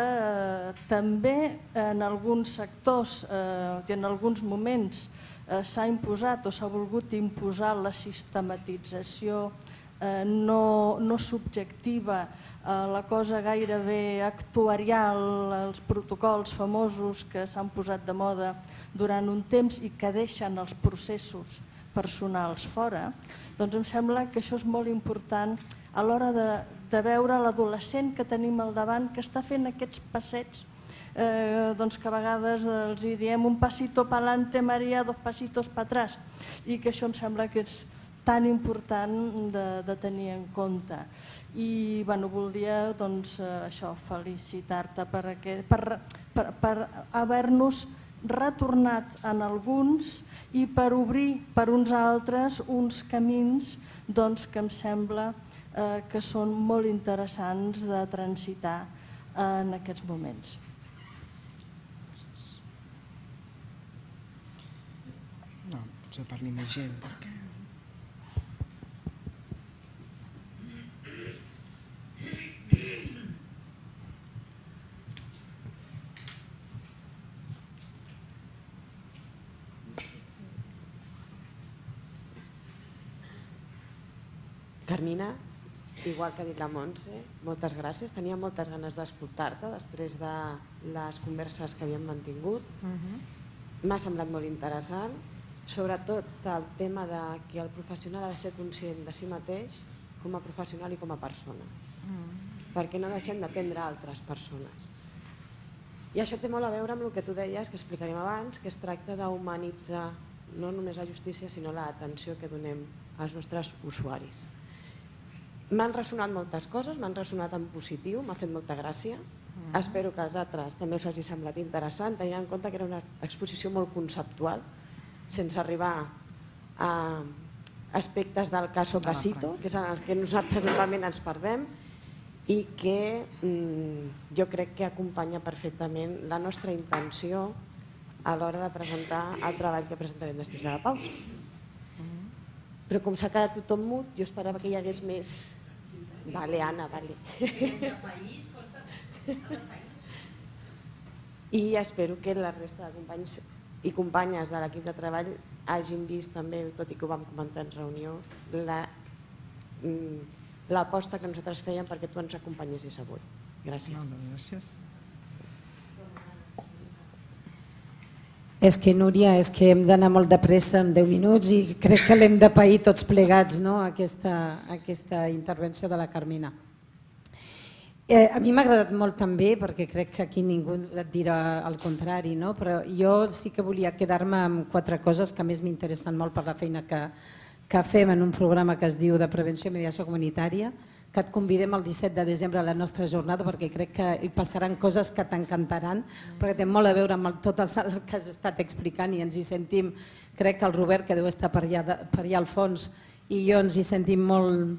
també en alguns sectors i en alguns moments s'ha imposat o s'ha volgut imposar la sistematització no subjectiva, la cosa gairebé actuarial, els protocols famosos que s'han posat de moda durant un temps i que deixen els processos personals fora, doncs em sembla que això és molt important a l'hora de veure l'adolescent que tenim al davant que està fent aquests passets que a vegades els diem un pasito pa'lante, Maria, dos pasitos pa atrás, i que això em sembla que és tan important de tenir en compte. I voldria això, felicitar-te per haver-nos retornat en alguns i per obrir per uns altres uns camins que em sembla que són molt interessants de transitar en aquests moments. No, potser parli més gent, perquè... Carmina, igual que ha dit la Montse, moltes gràcies. Tenia moltes ganes d'escoltar-te després de les converses que havíem mantingut. M'ha semblat molt interessant, sobretot el tema que el professional ha de ser conscient de si mateix com a professional i com a persona, perquè no deixem d'aprendre altres persones. I això té molt a veure amb el que tu deies, que explicarem abans, que es tracta d'humanitzar no només la justícia, sinó l'atenció que donem als nostres usuaris. M'han ressonat moltes coses, m'han ressonat en positiu, m'ha fet molta gràcia. Espero que als altres també us hagi semblat interessant, tenint en compte que era una exposició molt conceptual, sense arribar a aspectes del caso casito, que és en els que nosaltres normalment ens perdem, i que jo crec que acompanya perfectament la nostra intenció a l'hora de presentar el treball que presentarem després de la pausa. Però com s'ha quedat tothom mut, jo esperava que hi hagués més... Vale, Anna, vale. I espero que la resta de companys i companyes de l'equip de treball hagin vist també, tot i que ho vam comentar en reunió, l'aposta que nosaltres fèiem perquè tu ens acompanyessis avui. Gràcies. Moltes gràcies. És que, Núria, és que hem d'anar molt de pressa en 10 minuts i crec que l'hem de pair tots plegats, aquesta intervenció de la Carmina. A mi m'ha agradat molt també, perquè crec que aquí ningú et dirà el contrari, però jo sí que volia quedar-me amb 4 coses que a més m'interessen molt per la feina que fem en un programa que es diu de prevenció i mediació comunitària, que et convidem el 17 de desembre a la nostra jornada perquè crec que hi passaran coses que t'encantaran, perquè té molt a veure amb tot el que has estat explicant i ens hi sentim, crec que el Robert, que deu estar per allà al fons, i jo ens hi sentim molt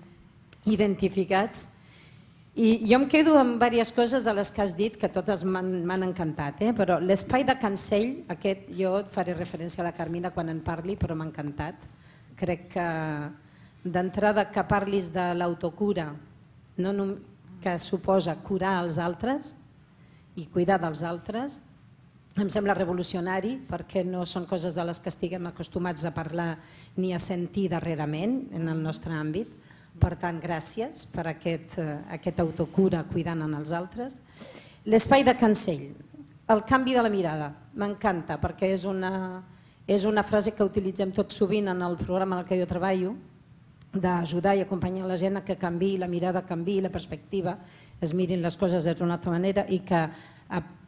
identificats. I jo em quedo amb diverses coses de les que has dit, que totes m'han encantat, però l'espai de Cancell, aquest jo faré referència a la Carmina quan en parli, però m'ha encantat. Crec que d'entrada que parlis de l'autocura, que suposa curar els altres i cuidar dels altres, em sembla revolucionari perquè no són coses de les que estiguem acostumats a parlar ni a sentir darrerament en el nostre àmbit. Per tant, gràcies per aquest autocura cuidant en els altres. L'espai de Cancell, el canvi de la mirada, m'encanta perquè és una frase que utilitzem tot sovint en el programa en el que jo treballo, d'ajudar i acompanyar la gent a que canviï la mirada, canviï la perspectiva, es mirin les coses d'una altra manera i que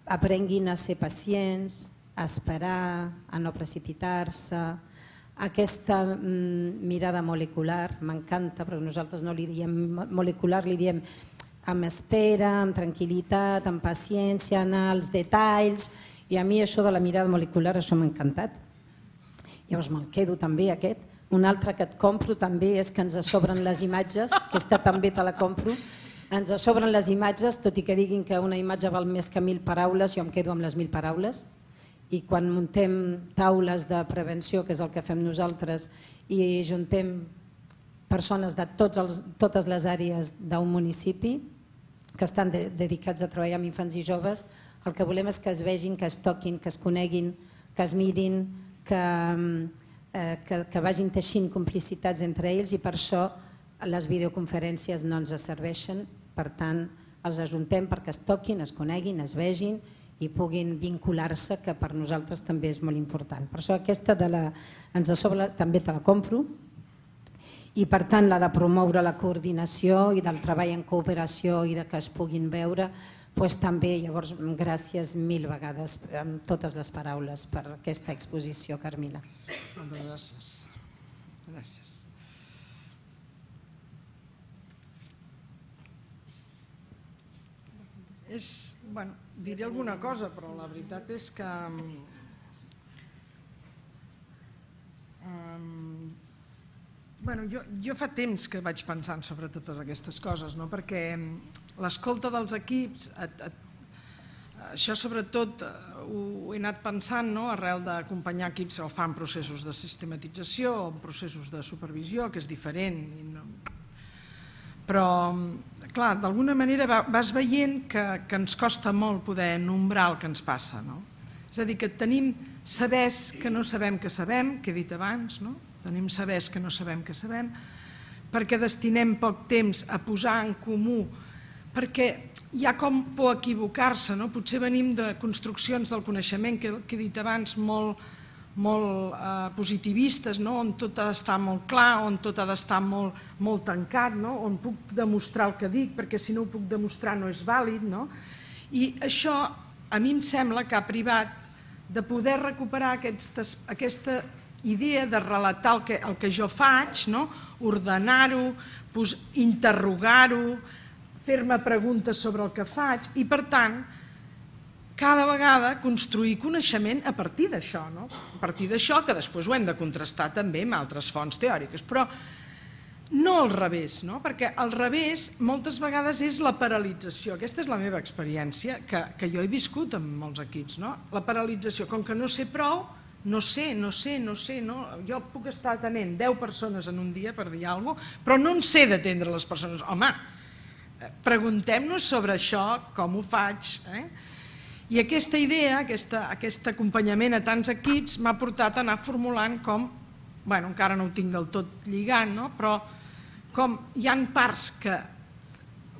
aprenguin a ser pacients, a esperar, a no precipitar-se. Aquesta mirada molecular m'encanta, però nosaltres no li diem molecular, li diem amb espera, amb tranquil·litat, amb paciència, anar als detalls, i a mi això de la mirada molecular això m'ha encantat. Llavors me'l quedo també aquest. Un altre que et compro també és que ens sobren les imatges, aquesta també te la compro, ens sobren les imatges, tot i que diguin que una imatge val més que 1.000 paraules, jo em quedo amb les 1.000 paraules, i quan muntem taules de prevenció, que és el que fem nosaltres, i juntem persones de totes les àrees d'un municipi que estan dedicats a treballar amb infants i joves, el que volem és que es vegin, que es toquin, que es coneguin, que es mirin, que vagin teixint complicitats entre ells, i per això les videoconferències no ens serveixen. Per tant, els ajuntem perquè es toquin, es coneguin, es vegin i puguin vincular-se, que per nosaltres també és molt important. Per això aquesta ens sobra també te la compro, i per tant la de promoure la coordinació i del treball en cooperació i que es puguin veure, doncs també, llavors, gràcies 1000 vegades amb totes les paraules per aquesta exposició, Carmina. Moltes gràcies. Gràcies. Bueno, diré alguna cosa, però la veritat és que jo fa temps que vaig pensant sobre totes aquestes coses, perquè l'escolta dels equips, això sobretot ho he anat pensant arrel d'acompanyar equips que fan processos de sistematització o processos de supervisió, que és diferent. Però, clar, d'alguna manera vas veient que ens costa molt poder nombrar el que ens passa. És a dir, que tenim sabers que no sabem que sabem, que he dit abans, tenim sabers que no sabem que sabem, perquè destinem poc temps a posar en comú, perquè hi ha com por equivocar-se, potser venim de construccions del coneixement que he dit abans molt positivistes, on tot ha d'estar molt clar, on tot ha d'estar molt tancat, on puc demostrar el que dic, perquè si no ho puc demostrar no és vàlid. I això a mi em sembla que ha privat de poder recuperar aquesta idea de relatar el que jo faig, ordenar-ho, interrogar-ho, fer-me preguntes sobre el que faig i, per tant, cada vegada construir coneixement a partir d'això, a partir d'això que després ho hem de contrastar també amb altres fonts teòriques, però no al revés, perquè al revés moltes vegades és la paralització. Aquesta és la meva experiència, que jo he viscut amb molts equips, la paralització. Com que no sé prou, no sé, jo puc estar atenent 10 persones en un dia per dir alguna cosa, però no en sé d'atendre les persones. Home, preguntem-nos sobre això, com ho faig. I aquesta idea, aquest acompanyament a tants equips m'ha portat a anar formulant com, encara no ho tinc del tot lligant, però com hi ha parts que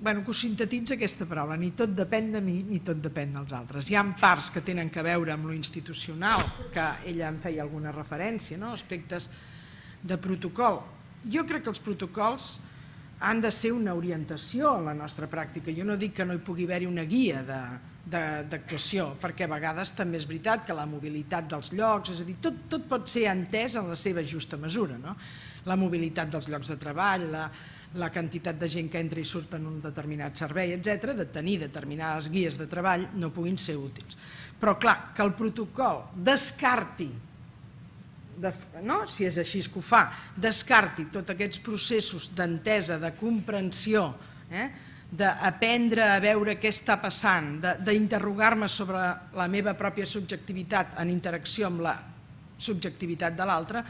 ho sintetitza aquesta paraula, ni tot depèn de mi ni tot depèn dels altres. Hi ha parts que tenen a veure amb lo institucional, que ella en feia alguna referència, aspectes de protocol. Jo crec que els protocols han de ser una orientació a la nostra pràctica. Jo no dic que no hi pugui haver-hi una guia d'actuació, perquè a vegades també és veritat que la mobilitat dels llocs, és a dir, tot pot ser entès en la seva justa mesura. La mobilitat dels llocs de treball, la quantitat de gent que entra i surt en un determinat servei, etc., de tenir determinades guies de treball no puguin ser útils. Però clar, que el protocol descarti, si és així que ho fa, descarti tots aquests processos d'entesa, de comprensió, d'aprendre a veure què està passant, d'interrogar-me sobre la meva pròpia subjectivitat en interacció amb la subjectivitat de l'altre,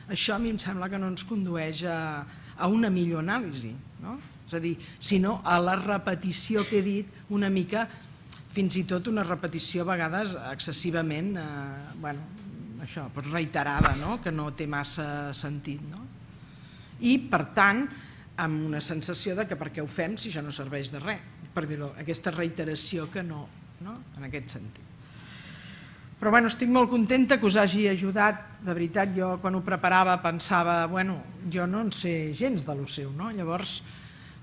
això a mi em sembla que no ens condueix a una millor anàlisi. És a dir, sinó a la repetició que he dit, una mica, fins i tot una repetició a vegades excessivament reiterada, que no té massa sentit. I, per tant, amb una sensació que per què ho fem si això no serveix de res, per dir-ho, aquesta reiteració que no, en aquest sentit. Però estic molt contenta que us hagi ajudat, de veritat, jo quan ho preparava pensava, jo no en sé gens de lo seu, llavors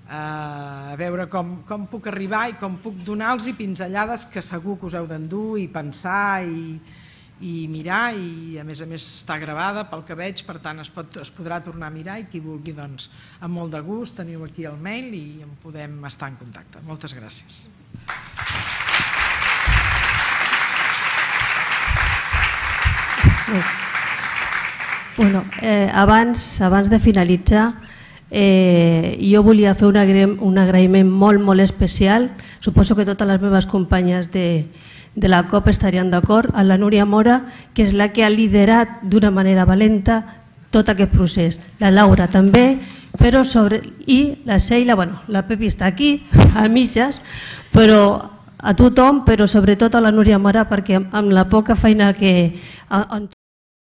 a veure com puc arribar i com puc donar-los pinzellades que segur que us heu d'endur i pensar i mirar, i a més està gravada pel que veig, per tant es podrà tornar a mirar, i qui vulgui, doncs, amb molt de gust, teniu aquí el mail i en podem estar en contacte. Moltes gràcies. Abans de finalitzar, jo volia fer un agraïment molt especial, suposo que totes les meves companyes de la COP estarien d'acord, a la Núria Mora, que és la que ha liderat d'una manera valenta tot aquest procés. La Laura també, i la Sheila, la Pepi està aquí, a mitges, però a tothom, però sobretot a la Núria Mora, perquè amb la poca feina que